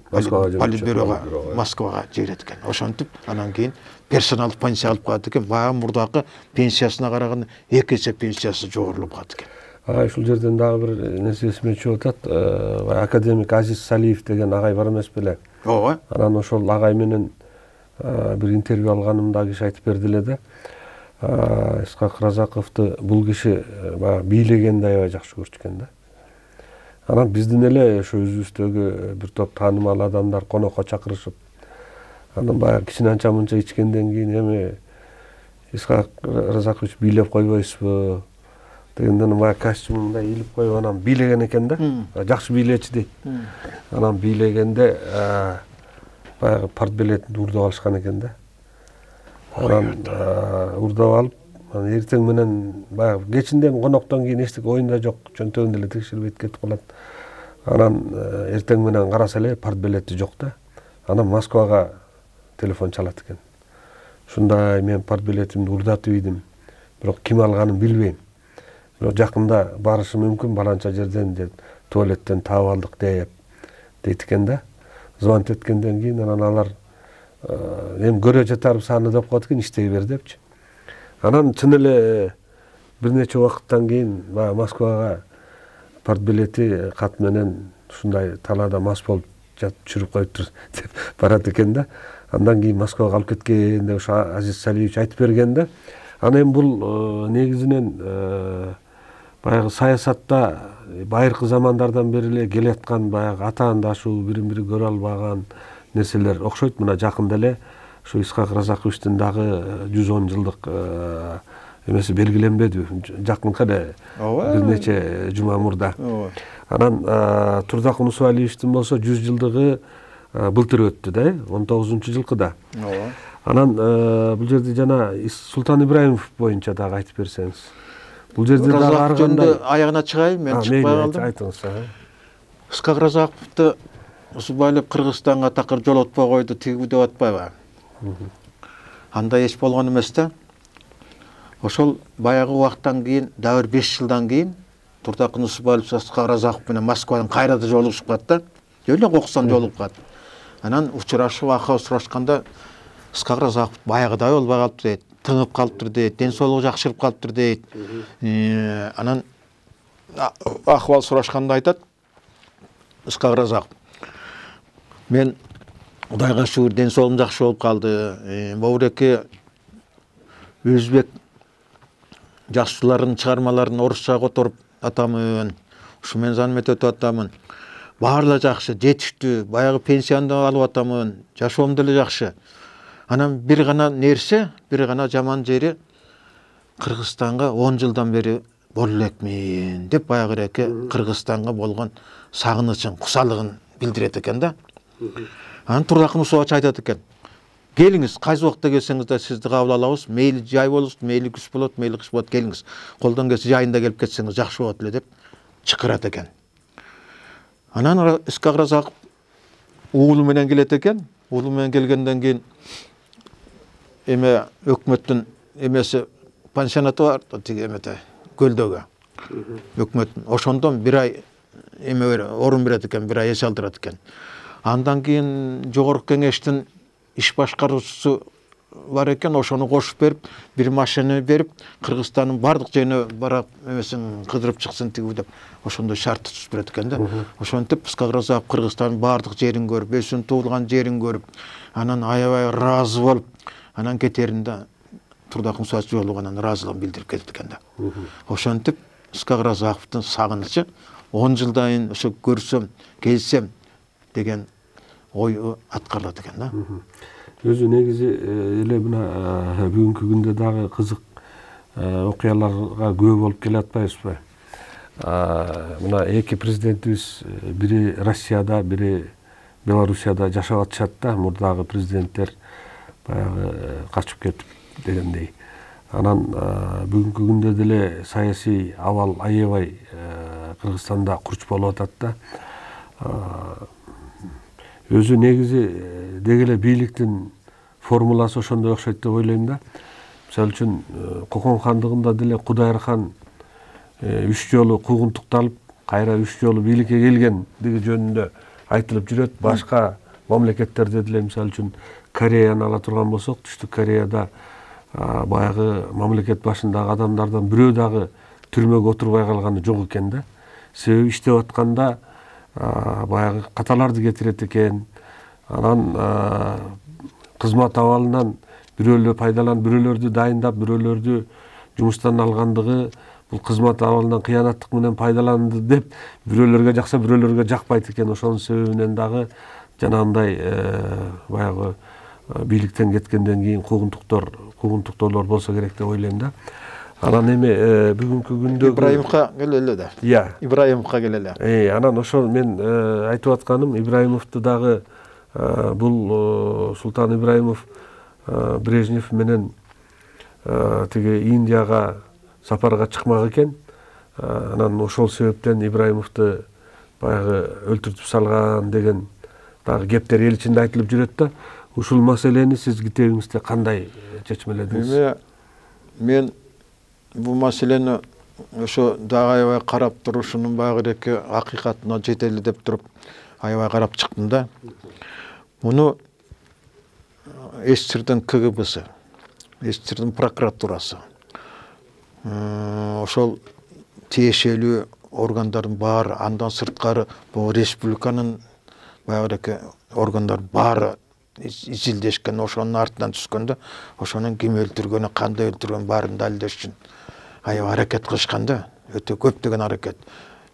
политбюрого Москвага жиберет экен. Ошентип анан кийин персоналдык пенсия алып калат экен. Баягы мурдакы пенсиясына караганда 2 эсе пенсиясы жогорулуп калат экен. Ушул жерден дагы бир нерсе эсиме чыгып атат. Академик Азиз Салиев деген агай бар эмес беле? Ооба. Анан ошол агай менен бир интервью алганымда киши айтып берди эле да. Ысқақ Разаковду бул киши бийлегенди аябай жакшы көрчү да. Анан биздин эле ошо өзүбүздөгү бир топ таанымал адамдар конокко чакырышып, анан баягы кичине анча мынча ичкенден кийин эми Ысқақ Разакович бийлеп койбойсузбу дегенден баягы костюмун мындай ийилип коюп анан бийлеген экен да. Жакшы бийлечи дейт. Анан бийлегенде баягы партбилетин уурдап алышкан экен да. Анан уурдап алып, эртең менен баягы кечинде коноктон кийин эчтеке оюнда жок, чөнтөгүндө эле текшербейт кетип калат. Анан эртең менен караса эле партбилети жок да. Анан Москвага телефон чалат экен. Ушундай мен партбилетимди уурдатып ийдим, бирок ким алганын билбейм. Бирок жакында барышы мүмкүн, баланча жерден деп туалеттен таап алдык дейт экен да. Звонок эткенден кийин анан алар эми көрө жатарбыз саны деп коет экен, иштей бер депчи. Анан чын эле бир нече убакыттан кийин Москвага партбилети кат менен ушундай талаада мас болуп жатып чүрүп коюптур деп барат экен да. Андан кийин Москвага алып кеткен деп ошо Азиз Салиевич айтып берген да. Анан эми бул негизинен баягы саясатта байыркы замандардан бери эле келаткан баягы атаандашуу, бирин-бири көрө албаган нерселер окшойт. Мына жакында эле ушу Ысқақ Разаковичтин дагы 110 жылдык эмеси белгиленбедиби? Жакынкы эле бир нече жума мурда. Анан Турдакын Усубаевичтин болсо 100 жылдыгы былтыр өттү да, 19-жылкыда. Анан бул жерде жана Султан Ибраимов боюнча дагы айтып берсеңиз. Бул жерде дагы ар кандай аягына чыгайын, мен чыкпай калдым. Айтыңыз. Ысқақ Разаковду Усубаев Кыргызстанга такыр жолотпой койду, тиги деп атпайбы? Андай эч болгон эмес да. Ошол баягы убакыттан кийин, дагы 5 жылдан кийин Турдакын Усубаев Ысқақ Разаков менен Москвадан кайра да жолугушуп калат да. эле кокустан жолугуп калат. Анан учурашып акыбы сурашканда Ысқақ Разақов баягыдай болбой калыптыр дейт, тыңып калыптыр дейт, ден соолугу жакшырып калыптыр дейт. Анан акыбал сурашканда айтат Ысқақ Разақов: мен Кудайга шүгүр ден соолугум жакшы болуп калды. Могуреке өзбек жашчыларынын чыгармаларын орусча которуп атамын. Ушу мен занмет өтүп атамын. Баары жакшы, жетиштүү, баягы пенсияны алып атамын. Жашоом деле жакшы. Анан бир гана нерсе, бир гана жаман жери Кыргызстанга 10 жылдан бери боло элекмин деп баягыреке Кыргызстанга болгон сагынычын, кусалыгын билдирет экен да. Анан Турдакын Усубач айтат экен: келиңиз, кайсы убакта келсеңиз да сизди кабыл алабыз. Мейли жай болобуз, мейли күз болот, мейли кыш болот, келиңиз. Колдон келсе жайында келип кетсеңиз жакшы болот эле деп чакырат экен. Анан Ысқақ Разақов уулу менен келет экен. Уулу менен келгенден кийин өкмөттүн эмеси пансионаты бар, тиги эмете көлдөгө. Өкмөттүн ошондон бир ай орун берет экен, бир ай эс алдырат экен. Андан кийин жогорку кеңештин иш башкаруучусу бар экен, ошону кошуп берип, бир машина берип, Кыргызстандын бардык жерине барап эмесин кыдырып чыксын тиги деп ошондой шарт түзүп берет экен да. Ошентип Ысқақ Разақов Кыргызстандын бардык жерин көрүп, өзүнүн туулган жерин көрүп, анан аябай ыраазы болуп, анан кетеринде Турдакын Усубач жолугуп анан ыраазылыгын билдирип кетет экен да. Ошентип Ысқақ Разақовдун сагынычы 10 жылдан кийин ошо көрсөм, келсем деген ой аткарылат экен да. Өзү негизи эле мына бүгүнкү күндө дагы кызык окуяларга күбө болуп келе атпайбызбы? Мына эки президентибиз бири Россияда, бири Белоруссияда жашап атышат да, мурдагы президенттер баягы качып кетип дегендей. Анан бүгүнкү күндө деле саясий абал аябай Кыргызстанда курч болуп атат да. Өзү негизи деги эле бийликтин формуласы ошондой окшойт деп ойлойм да. Мисалы үчүн Кокон хандыгында деле Кудайыр хан 3 жолу куугунтукталып, кайра 3 жолу бийликке келгендиги жөнүндө айтылып жүрөт. Башка мамлекеттерде деле, мисалы үчүн Кореяны ала турган болсок, Түштүк Кореяда баягы мамлекет башындагы адамдардан бирөө дагы түрмөгө отурбай калганы жок экен да. Себеби иштеп атканда баягы каталарды кетирет экен. Анан кызмат абалынан бирөөлөр пайдаланып, бирөөлөрдү дайындап, бирөөлөрдү жумуштан алгандыгы бул кызмат абалынан кыянаттык менен пайдаланды деп бирөөлөргө жакса, бирөөлөргө жакпайт экен. Ошонун себебинен дагы жанагындай баягы бийликтен кеткенден кийин куугунтуктоолор болсо керек деп ойлойм да. Анан эми бүгүнкү күндө Ибраимовго келеле да. Ибраимовго келеле. Анан ошо мен айтып атканым, Ибраимовду дагы бул Султан Ибраимов Брежнев менен тиги Индияга сапарга чыкмак экен. Анан ошол себептен Ибраимовду баягы өлтүртүп салган деген дагы кептер эл ичинде айтылып жүрөт да. Ушул маселени сиз китебиңизде кандай чечмеледиңиз? Мен бул маселени ошо дагы аябай карап турушунун баягыреки акыйкатына жетели деп туруп аябай карап чыктым да. Муну СССРдин КГБсы, СССРдин прокуратурасы, ошол тиешелүү органдардын баары, андан сырткары бул республиканын баягыреки органдар баары изилдешкен, ошонун артынан түшкөндө, ошонун ким өлтүргөнү, кандай өлтүргөн баарын далилдеш үчүн аябай аракет кылышкан да. Өтө көптөгөн аракет.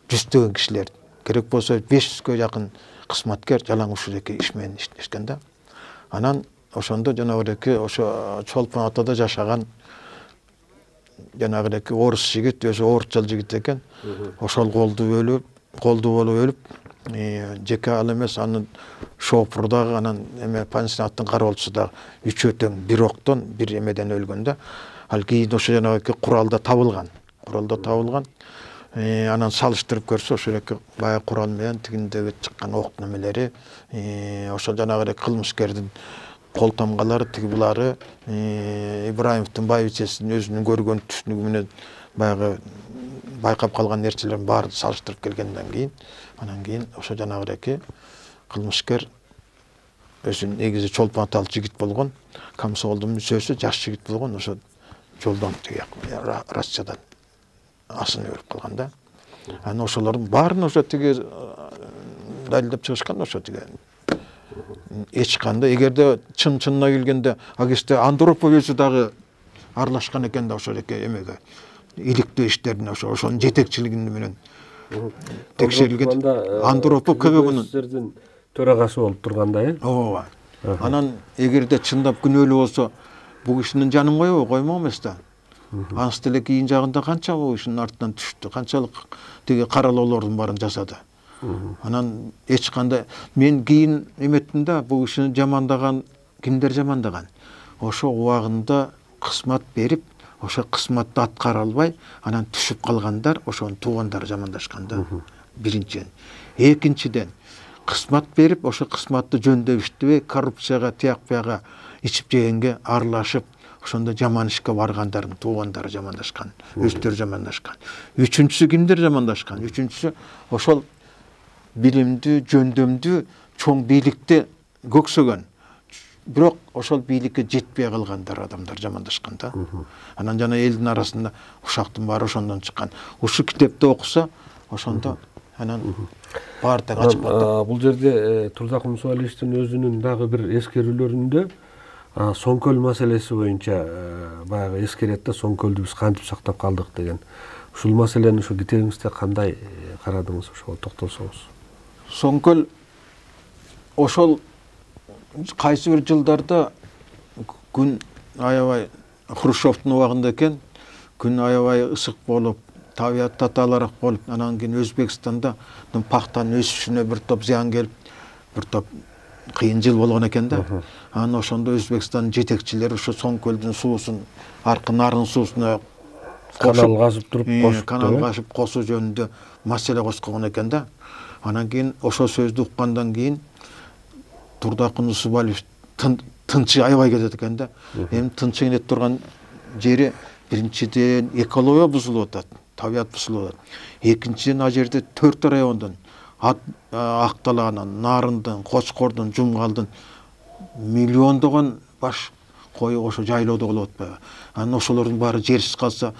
Жүздөгөн кишилер, керек болсо 500гө жакын кызматкер жалаң ушундой иш менен иштешкен да. Анан ошондо жанагыреки ошо Чолпон атада жашаган жанагыреки орус жигит, өзү орусчал жигит экен. Ошол колду болуп өлүп, жеке ал эмес, анын шофурдагы, анан пансионаттын кароолчусу дагы үчөө тең бир октон, бир эмеден өлгөн да. Ал кийин ошо жанагы куралда табылган. Анан салыштырып көрсө, ошо эки баягы курал менен тигиндеги чыккан октун эмелери, ошо жанагы кылмышкердин кол тамгалары, тиги булары, Ибраимовдун байбичесинин өзүнүн көргөн түшүнүгү менен баягы байкап калган нерселердин баарын салыштырып келгенден кийин, анан кийин ошо жанагыреки кылмышкер өзү негизи чолпон аталык жигит болгон, комсомолдун мүчөсү, жаш жигит болгон, ошо жолдон тиги Россиядан асын өрүп калган да. Анан ошолордун баарын ошо тиги далилдеп чыгышкан ошо тиги. Эч кандай эгерде чын-чынына келгенде агесте Андропов өзү дагы аралашкан экен да ошол эмеге. Иликтөө иштерине ошонун жетекчилиги менен текшерилген. Андропов КГБнын төрагасы болуп турганда, ооба. Анан эгерде чындап күнөөлүү болсо, бул кишинин жанын койбой коймок эмес да. Анысы деле кийин жагында канча бул кишинин артынан түштү, канчалык тиги каралоолордун баарын жасады. Анан эч кандай мен кийин эметтим да, бул кишини жамандаган кимдер жамандаган? Ошо убагында кызмат берип, ошо кызматты аткара албай, анан түшүп калгандар, ошонун туугандары жамандашкан да. Биринчиден. Экинчиден, кызмат берип, ошо кызматты жөндөп иштебей, коррупцияга, тияк-буяга, ичип жегенге аралашып, ошондо жаман ишке баргандардын туугандары жамандашкан, өздөрү жамандашкан. Үчүнчүсү кимдер жамандашкан? Үчүнчүсү ошол билимдүү, жөндөмдүү, чоң бийликти көксөгөн, бирок ошол бийликке жетпей калгандар адамдар жамандашкан да. Анан жана элдин арасында ушактын баары ошондон чыккан. Ушу китепти окуса, ошондо анан баардыгы ачык болот. Бул жерде Турдакул Мусабалиевичтин өзүнүн дагы бир эскерүүлөрүндө Соңкөл маселеси боюнча баягы эскерет да, Соңкөлдү биз кантип сактап калдык деген. Ушул маселени ушу китебиңизде кандай карадыңыз, ошого токтолсоңуз? Соңкөл ошол кайсы бир жылдарда күн аябай Хрущевдун убагында экен, күн аябай ысык болуп, табият татаалыраак болуп, анан кийин Өзбекстанда пактанын өсүшүнө бир топ зыян келип, бир топ кыйын жыл болгон экен да. Анан ошондо Өзбекстандын жетекчилери ошо Соңкөлдүн суусун, аркы нарын суусуна канал казып туруп кошуп, канал казып косуу жөнүндө маселе козгогон экен да. Анан кийин ошол сөздү уккандан кийин Турдакул Мусабалиев тынчы аябай кетет экен да. Эми тынчы кете турган жери биринчиден экология бузулуп атат, табият бузулуп атат. Экинчиден ал жерде 4 райондон Акталаанын, Нарындын, Кочкордун, Жумгалдын миллиондогон баш кою ошо жайлоодо болуп атпайбы? Анан ошолордун баары жерсиз калса,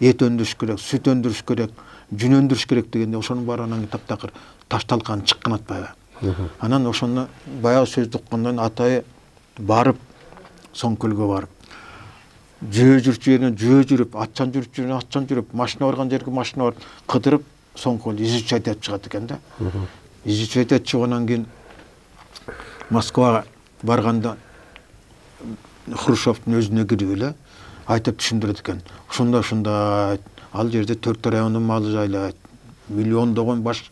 эт өндүрүш керек, сүт өндүрүш керек, жүн өндүрүш керек дегенде ошонун баары анан таптакыр ташталган чыккан атпайбы? Анан ошону баягы сөздү уккандан атайы барып, Соңкөлгө барып, жөө жүрчү жерине жөө жүрүп, атчан жүрчү жерине атчан жүрүп, машина барган жерге машина барып, кыдырып, Соңкөл изучать этип чыгат экен да. Изучать этип чыггандан кийин Москвага барганда Хрущевдун өзүнө кирип эле айтып түшүндүрөт экен. Ушундай ал жерде 4 райондун малы жайлайт, миллиондогон баш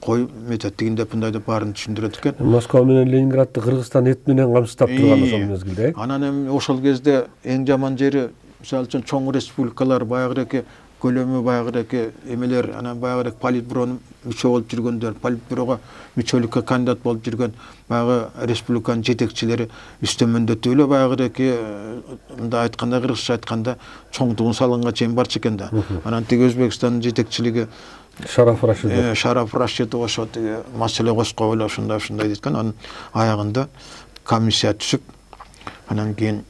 кой метет дегенде мындай деп баарын түшүндүрөт экен. Москва менен Ленинградты Кыргызстан эт менен камсыздап турган ошол мезгилде. Анан эми ошол кезде эң жаман жери, мисалы үчүн чоң республикалар, баягыраки көлөмү баягыраки эмелер, анан баягыраки политбюронун мүчө болуп жүргөндөр, политбюрого мүчөлүккө кандидат болуп жүргөн баягы республиканын жетекчилери үстөмөндөтүп эле баягыраки мындай айтканда, кыргызча айтканда чоңдугун салганга чейин барчу экен да. Анан тиги Өзбекстандын жетекчилиги Шараф Рашидов. Шараф Рашидов ошо тиги маселе козгоп эле ушундай дейт. Анан аягында комиссия түшүп, анан кийин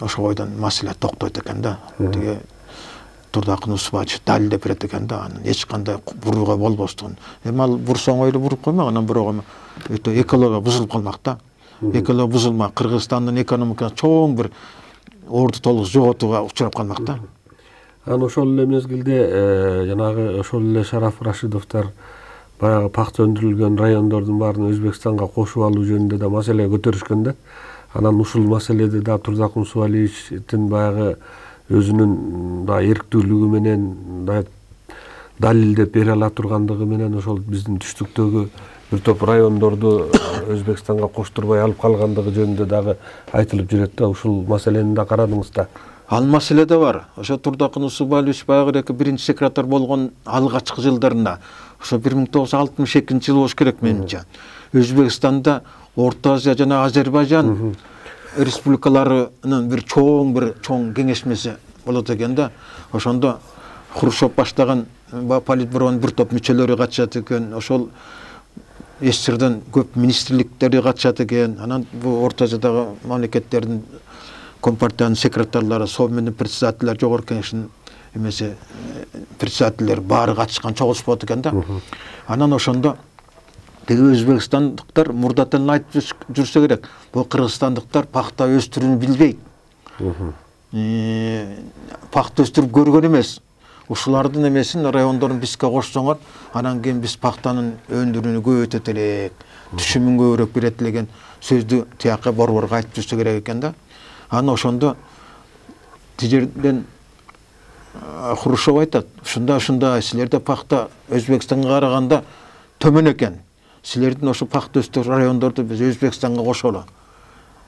ошо бойдон маселе токтойт экен да. Тиги Турдакул Мусабалиев далилдеп берет экен да, анан эч кандай бурууга болбостугун. Эми ал бурсоң ойлу буруп коймок, анан бирок эми өтө экология бузулуп калмак да. Экология бузулма, Кыргызстандын экономикасы чоң бир орду толук жоготууга учурап калмак да. Анан ошол эле мезгилде жанагы ошол эле Шараф Рашидовдор баягы пакта өндүрүлгөн райондордун баарын Өзбекстанга кошуп алуу жөнүндө да маселе көтөрүшкөн да. Анан ушул маселеде да Турдакул Мусабалиевичтин баягы өзүнүн да эрктүүлүгү менен да далилдеп бере ала тургандыгы менен ошол биздин түштүктөгү бир топ райондорду Өзбекстанга коштурбай алып калгандыгы жөнүндө дагы айтылып жүрөт да. Ушул маселени да карадыңыз да. Ал маселе да бар. Ошо Турдакул Мусабалиевич баягыраки биринчи секретарь болгон алгачкы жылдарында, ошо 1962 жыл болуш керек менимче. Өзбекстанда Орто Азия жана Азербайжан республикаларынын бир чоң кеңешмеси болот экен да. Ошондо Хрущев баштаган политбюронун бир топ мүчөлөрү катышат экен. Ошол СССРден көп министрликтери катышат экен. Анан бул Орто Азиядагы мамлекеттердин компартиянын секретарлары, Совет менен председательдер, жогорку кеңештин эмеси председательдер баары катышкан, чогулуш болот экен да. Анан ошондо тиги өзбекстандыктар мурдатан айтып жүрсө керек. Бул кыргызстандыктар пахта өстүрүүнү билбейт. Пахта өстүрүп көргөн эмес. Ушулардын эмесин райондорун бизге кошсоңор, анан кийин биз пахтанын өндүрүүнү көбөйтөт элек, түшүмүн көбүрөөк берет деген сөздү тияка борборго айтып жүрсө керек экен да. Анан ошондо тижерден Хрущев айтат, ушундай силерде пахта Өзбекстанга караганда төмөн экен. Силердин ошо пахта өстүрүү райондорду биз Өзбекстанга кошолу.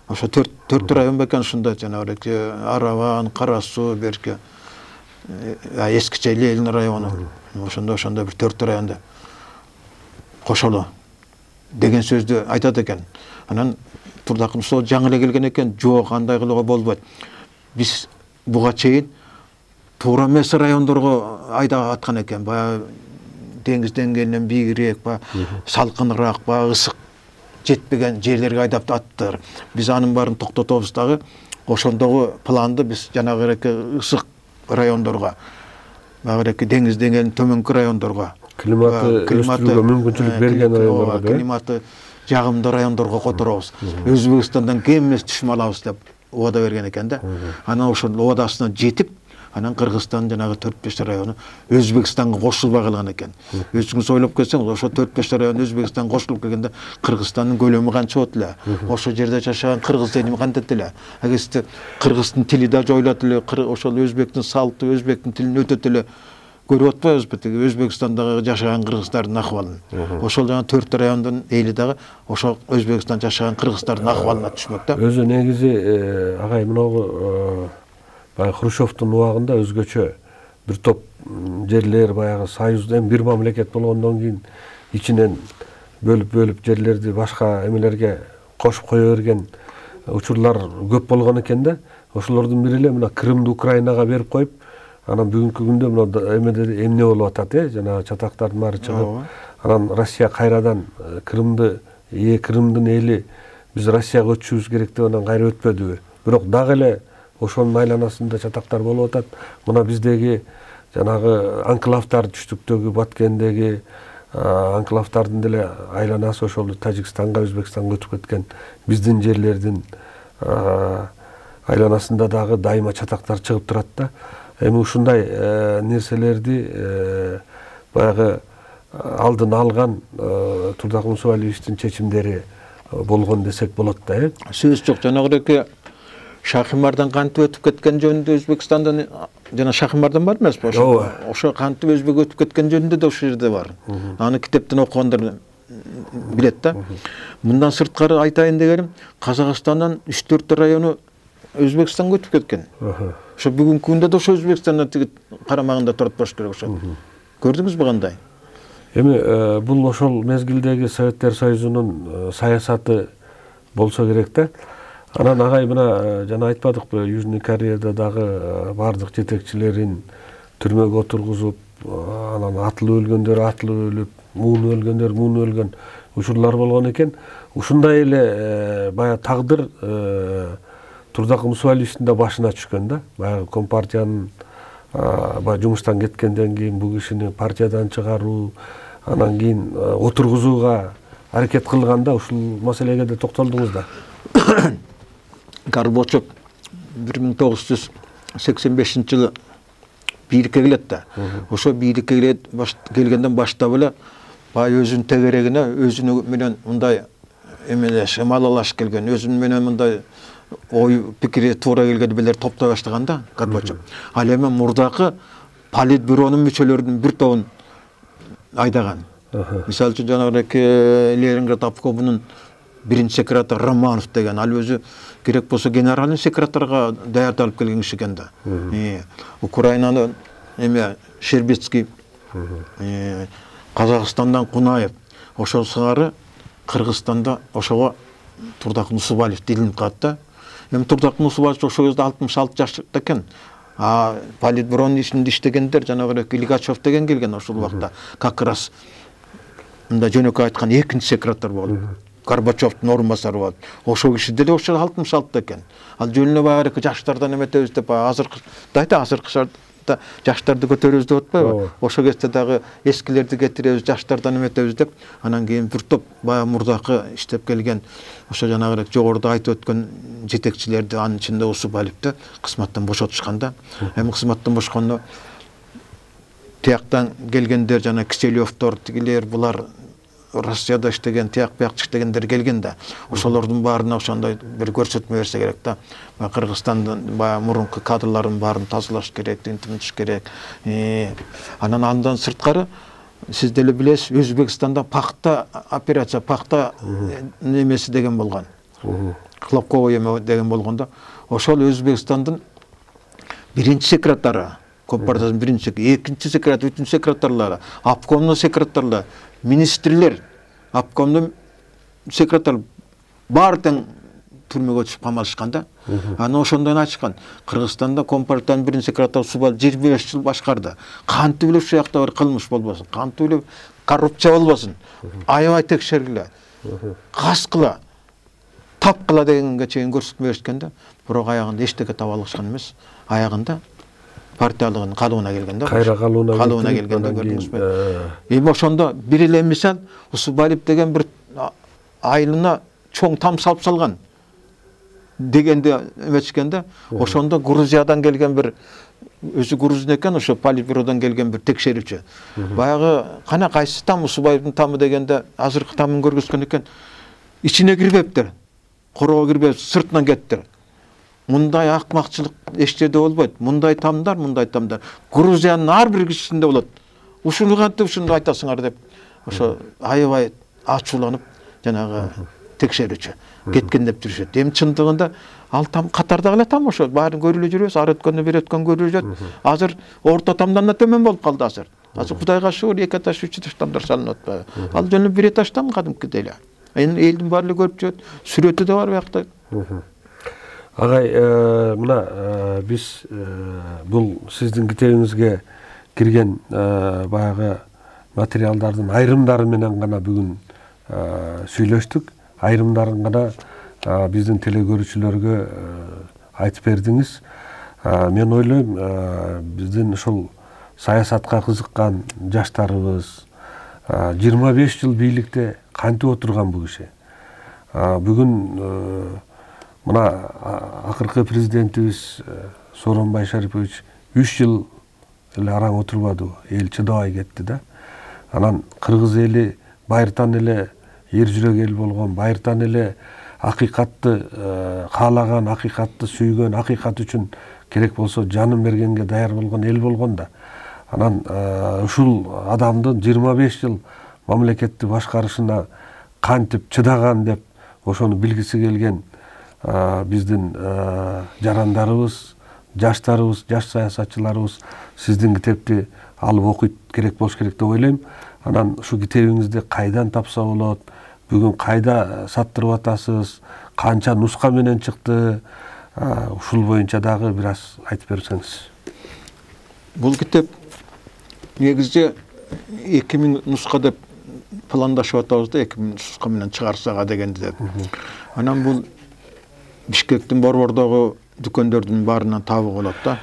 Ошо 4 район бекен ушундай жанагы Араван, Кара Суу, берки эскиче Ленин району. Ошондо бир 4 районду кошолу деген сөздү айтат экен. Анан Турдакым сол жаңы эле келген экен, жок андай кылууга болбойт. Биз буга чейин туура эмес райондорго айдап аткан экен. Баягы деңиз деңгээлинен бийигирээк, салкыныраак, ысык жетпеген жерлерге айдап аттыр. Биз анын баарын токтотобуз дагы. Ошондогу планды биз жанагы ысык райондорго, баягы деңиз деңгээлинин төмөнкү райондорго, климаты өстүрүүгө мүмкүнчүлүк берген райондорго, климаты жагымдуу райондорго которобуз. Өзбекстандан кем эмес түшүм алабыз деп убада берген экен да. Анан ошол убадасына жетип, анан Кыргызстандын жанагы 4-5 району Өзбекстанга кошулбай калган экен. Өзүңүз ойлоп көрсөңүз, ошо 4-5 район Өзбекстанга кошулуп келгенде Кыргызстандын көлөмү канча болот эле? Ошол жерде жашаган кыргыз элини кантет эле? Агесте кыргыздын тили да жоюлат эле, ошол өзбектин салты, өзбектин тилин өтөт эле. Көрүп атпайбыз бетиги Өзбекстандагы жашаган кыргыздардын акыбалын. Ошол жана 4 райондун эли дагы ошол Өзбекстанда жашаган кыргыздардын акыбалына түшмөк да. Өзү негизи агай мынау баягы Хрущевдун убагында өзгөчө бир топ жерлер баягы союздун бир мамлекет болгондон кийин ичинен бөлүп жерлерди башка эмелерге кошуп кое берген учурлар көп болгон экен да. Ошолордун бири эле мына Крымды Украинага берип коюп, анан бүгүнкү күндө мына эмне болуп атат, жана чатактардын баары чыгып, анан Россия кайрадан Крымдын эли биз Россияга өтүшүбүз керек деп анан кайра өтпөдүбү. Бирок дагы эле ошонун айланасында чатактар болуп атат. Мына биздеги жанагы анклавдар, түштүктөгү Баткендеги анклавдардын деле айланасы ошол Тажикстанга, Өзбекстанга өтүп кеткен биздин жерлердин айланасында дагы дайыма чатактар чыгып турат да. Эми ушундай нерселерди баягы алдын алган Турдакым Усубалиевичтин чечимдери болгон десек болот да. Сөз жок, жанагы Шахимардан кантип өтүп кеткен жөнүндө Өзбекстандан жана Шахимардан бар эмеспи? Ошо кантип Өзбек өтүп кеткен жөнүндө да ошол жерде бар. Аны китептен окугандар билет да. Мындан сырткары айтайын дегеним, Казакстандан 3-4 району Өзбекстанга өтүп кеткен. Ошо бүгүнкү күндө да ошо Өзбекстандан тиги карамагында турат болуш керек ошо. Көрдүңүзбү кандай? Эми бул ошол мезгилдеги Советтер Союзунун саясаты болсо керек да. Анан агай мына жана айтпадыкпы, Южный Кореяда дагы бардык жетекчилерин түрмөгө отургузуп, анан атылып өлгөндөр атылып өлүп, муун өлгөндөр муун өлгөн учурлар болгон экен. Ушундай эле баягы тагдыр Турдакым Усубалиевичтин да башына түшкөн да. Баягы компартиянын баягы жумуштан кеткенден кийин бул кишини партиядан чыгаруу, анан кийин отургузууга аракет кылганда ушул маселеге да токтолдуңуз да. Горбачев 1985-жылы бийликке келет да. Ошо бийликке келгенден баштап эле баягы өзүнүн тегерегине өзүнү менен мындай эмелеш, малалаш келген, өзүнүн менен мындай ой пикири туура келген билер топтой баштаган да Горбачев. Ал эми мурдакы политбюронун мүчөлөрүнүн бир тобун айдаган. Мисалы үчүн жанагы Ленинград обкомунун биринчи секретары Романов деген, ал өзү керек болсо генеральный секретарга даярдалып келген киши экен да. Украинаны эме Щербицкий, Казакстандан Кунаев, ошол сыңары Кыргызстанда ошого Турдакым Усубалиев илинип калат да. Эми Турдакым Усубалиев ошол кезде 66 жашта экен. Политбюронун ишинде иштегендер жанагы Лигачев деген келген ошол убакта. Как раз мында жөнөкөй айткан экинчи секретарь болду. Горбачевдун орун басары болду. Ошол киши деле ошол алтын шалтта экен. Ал жөнүнө багы жаштардан эметебиз деп азыркы шартта жаштарды көтөрөбүз деп атпайбы? Ошол кезде дагы эскилерди кетиребиз, жаштардан эметебиз деп, анан кийин бир топ баягы мурдакы иштеп келген ошо жанагырак жогоруда айтып өткөн жетекчилерди, анын ичинде Усубалевди кызматтан бошотушканда, эми кызматтан бошкондо тияктан келгендер, жана Киселевдор, тигилер, булар Россияда иштеген, тияк бияк иштегендер келген да. Ошолордун баарына ошондой бир көрсөтмө берсе керек да. Кыргызстандын баягы мурунку кадрларын баарын тазалаш керек, тинтимиш керек. Анан андан сырткары сиз деле билесиз, Өзбекстанда пахта операция, пахта немеси деген болгон. Хлопковый эме деген болгондо, ошол Өзбекстандын биринчи секретары, Компартиянын биринчи, экинчи секретарь, үчүнчү секретарлары, обкомдун секретарлары, министрлер, обкомдун секретарь баары тең түрмөгө түшүп камалышканда, аны ошондон айтышкан. Кыргызстанда Компартиянын биринчи секретары Усубалев 25 жыл башкарды. Кантип эле ушул жакта бир кылмыш болбосун, кантип эле коррупция болбосун, аябай текшергиле, каскыла, тапкыла дегенге чейин көрсөтмө беришкенде, бирок аягында эчтеке таба алышкан эмес. Аягында партиялыгын калыбына келгенде, кайра калыбына келгенде көрдүңүзбү? Эми ошондо бир эле мисал Усубалев деген бир айылына чоң там салып салган дегенде эметишкенде, ошондо Грузиядан келген бир, өзү грузин экен, ошо Политбюродон келген бир текшерүүчү. Баягы кана кайсы там Усубалевдин тамы дегенде азыркы тамын көргөзгөн экен. Ичине кирбептир. Короо кирбеп, сыртынан кеттир. Мындай акмакчылык эч жерде болбойт. Мындай тамдар. Грузиянын ар бир кишисинде болот. Ушуну кантип ушуну айтасыңар деп, ошо аябай ачууланып, жанагы текшерүүчү кеткен деп жүрүшөт. Эми чындыгында ал там катардагы эле там ошо баарын көрүлө жүрөбүз, ар өткөндө бир өткөн көрүлө жүрөт. Азыр орто тамдан да төмөн болуп калды азыр. Азыр Кудайга шүгүр 2 этаж, 3 этаж тамдар салынып атпайбы? Ал жөнү 1 этаждан кадимкидей эле. Эми элдин баары эле көрүп жүрөт. Сүрөтү да бар биякта. Агай, мына биз бул сиздин китебиңизге кирген баягы материалдардын айрымдары менен гана бүгүн сүйлөштүк. Айрымдарын гана биздин телекөрүүчүлөргө айтып бердиңиз. Мен ойлойм, биздин ушул саясатка кызыккан жаштарыбыз 25 жыл бийликте кантип отурган бул киши. Бүгүн мына акыркы президентибиз Сооронбай Шарипович 3 жыл эле араң отурбадыбы, эл чыдабай кетти да. Анан кыргыз эли байыртан эле эр жүрөк эл болгон, байыртан эле акыйкатты каалаган, акыйкатты сүйгөн, акыйкат үчүн керек болсо жанын бергенге даяр болгон эл болгон да. Анан ушул адамдын 25 жыл мамлекетти башкарышына кантип чыдаган деп ошону билгиси келген биздин жарандарыбыз, жаштарыбыз, жаш саясатчыларыбыз сиздин китепти алып окуйт керек болуш керек деп ойлойм. Анан ушу китебиңизди кайдан тапса болот? Бүгүн кайда саттырып атасыз? Канча нуска менен чыкты? Ушул боюнча дагы бир аз айтып берсеңиз. Бул китеп негизде 2000 нуска деп пландашып атабыз да, 2000 нуска менен чыгарсага дегенди деп. Анан бул Бишкектин борбордогу дүкөндөрдүн баарынан табууга болот да.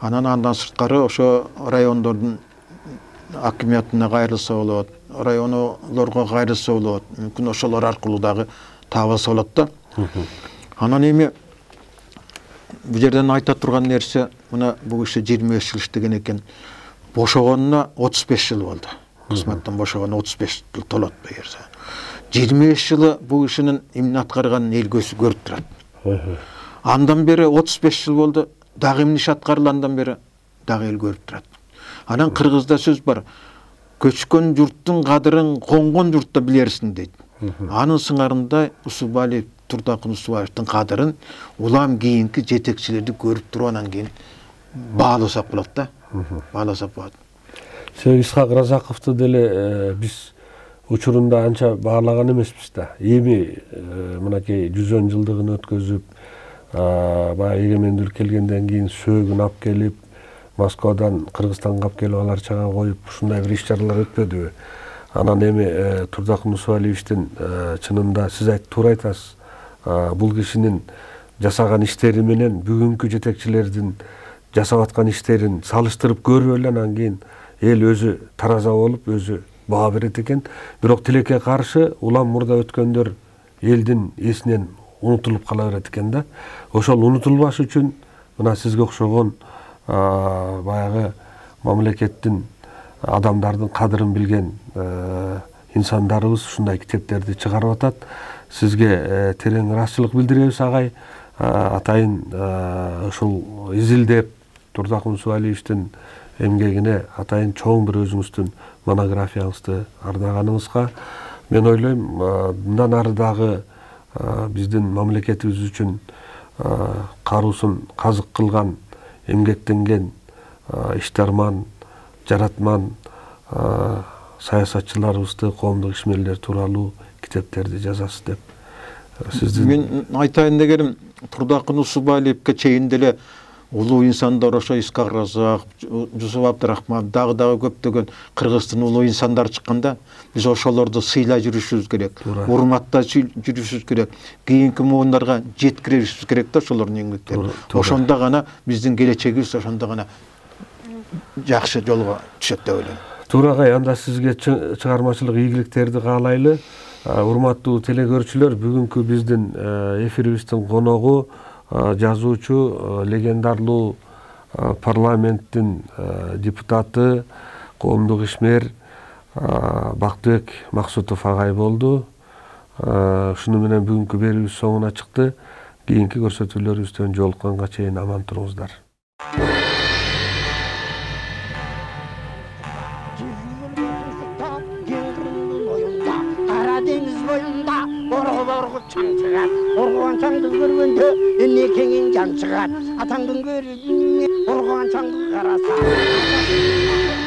Анан андан сырткары ошо райондордун акимиятына кайрылса болот, райондорго кайрылса болот, мүмкүн ошолор аркылуу дагы табылса болот да. Анан эми бул жерден айта турган нерсе, мына бул киши 25 жыл иштеген экен. Бошогонуна 35 жыл болду. Кызматтан бошогону 35 жыл толот бегерсе. 25 жылы бул кишинин эмне аткарганын эл көзү көрүп турат. Андан бери 35 жыл болду, дагы эмне иш аткарылгандан бери дагы эл көрүп турат. Анан кыргызда сөз бар. Көчкөн журттун кадырын конгон журтта билерсиң дейт. Анын сыңарында Усубалев, Турдакын Усубаевдин кадырын улам кийинки жетекчилерди көрүп туруп анан кийин бааласак болот да. Бааласак болот. Исхак Разаковду деле биз учурунда анча баалаган эмеспиз да. Эми мынакей 110 жылдыгын өткөзүп, баягы эгемендүүлүк келгенден кийин сөөгүн алып келип, Москвадан Кыргызстанга алып келип алар чага коюп, ушундай бир иш-чаралар өтпөдүбү? Анан эми Турдак Нусубалиевичтин чынында сиз туура айтасыз. Бул кишинин жасаган иштери менен бүгүнкү жетекчилердин жасап аткан иштерин салыштырып көрүп эле анан кийин эл өзү тараза болуп өзү баа берет экен. Бирок тилекке каршы улам мурда өткөндөр элдин эсинен унутулуп кала берет экен да. Ошол унутулбаш үчүн мына сизге окшогон баягы мамлекеттин адамдардын кадырын билген инсандарыбыз ушундай китептерди чыгарып атат. Сизге терең ыраазычылык билдиребиз агай. Атайын ушул изилдеп Турдак Нусубалиевичтин эмгегине атайын чоң бир өзүңүздүн монографияңызды арнаганыңызга. Мен ойлойм, мындан ары дагы биздин мамлекетибиз үчүн каруусун казык кылган, эмгектенген иштарман, жаратман саясатчыларыбызды, коомдук ишмерлер тууралуу китептерди жазасыз деп сиздин. Мен айтайын дегеним, Турдак Нусубалиевке чейин деле улуу инсандар ошо Исхак Разак, Жусуп Абдрахман, дагы көптөгөн Кыргыздын улуу инсандары чыкканда, биз ошолорду сыйлай жүрүшүбүз керек, урматтай жүрүшүбүз керек, кийинки муундарга жеткиришибиз керек да ошолордун эмгектерин. Ошондо гана биздин келечегибиз ошондо гана жакшы жолго түшөт деп ойлойм. Туура агай, анда сизге чыгармачылык ийгиликтерди каалайлы. Урматтуу телекөрүүчүлөр, бүгүнкү биздин эфирибиздин коногу жазуучу, легендарлуу парламенттин депутаты, коомдук ишмер Бактыбек Максутов агай болду. Ушуну менен бүгүнкү берүүбүз соңуна чыкты. Кийинки көрсөтүүлөрүбүздөн жолукканга чейин аман туруңуздар. Оргуан чаңды көргөндө эмне кеңиң жан чыгат. Атаңдын көрүнүн оргуан чаңды караса.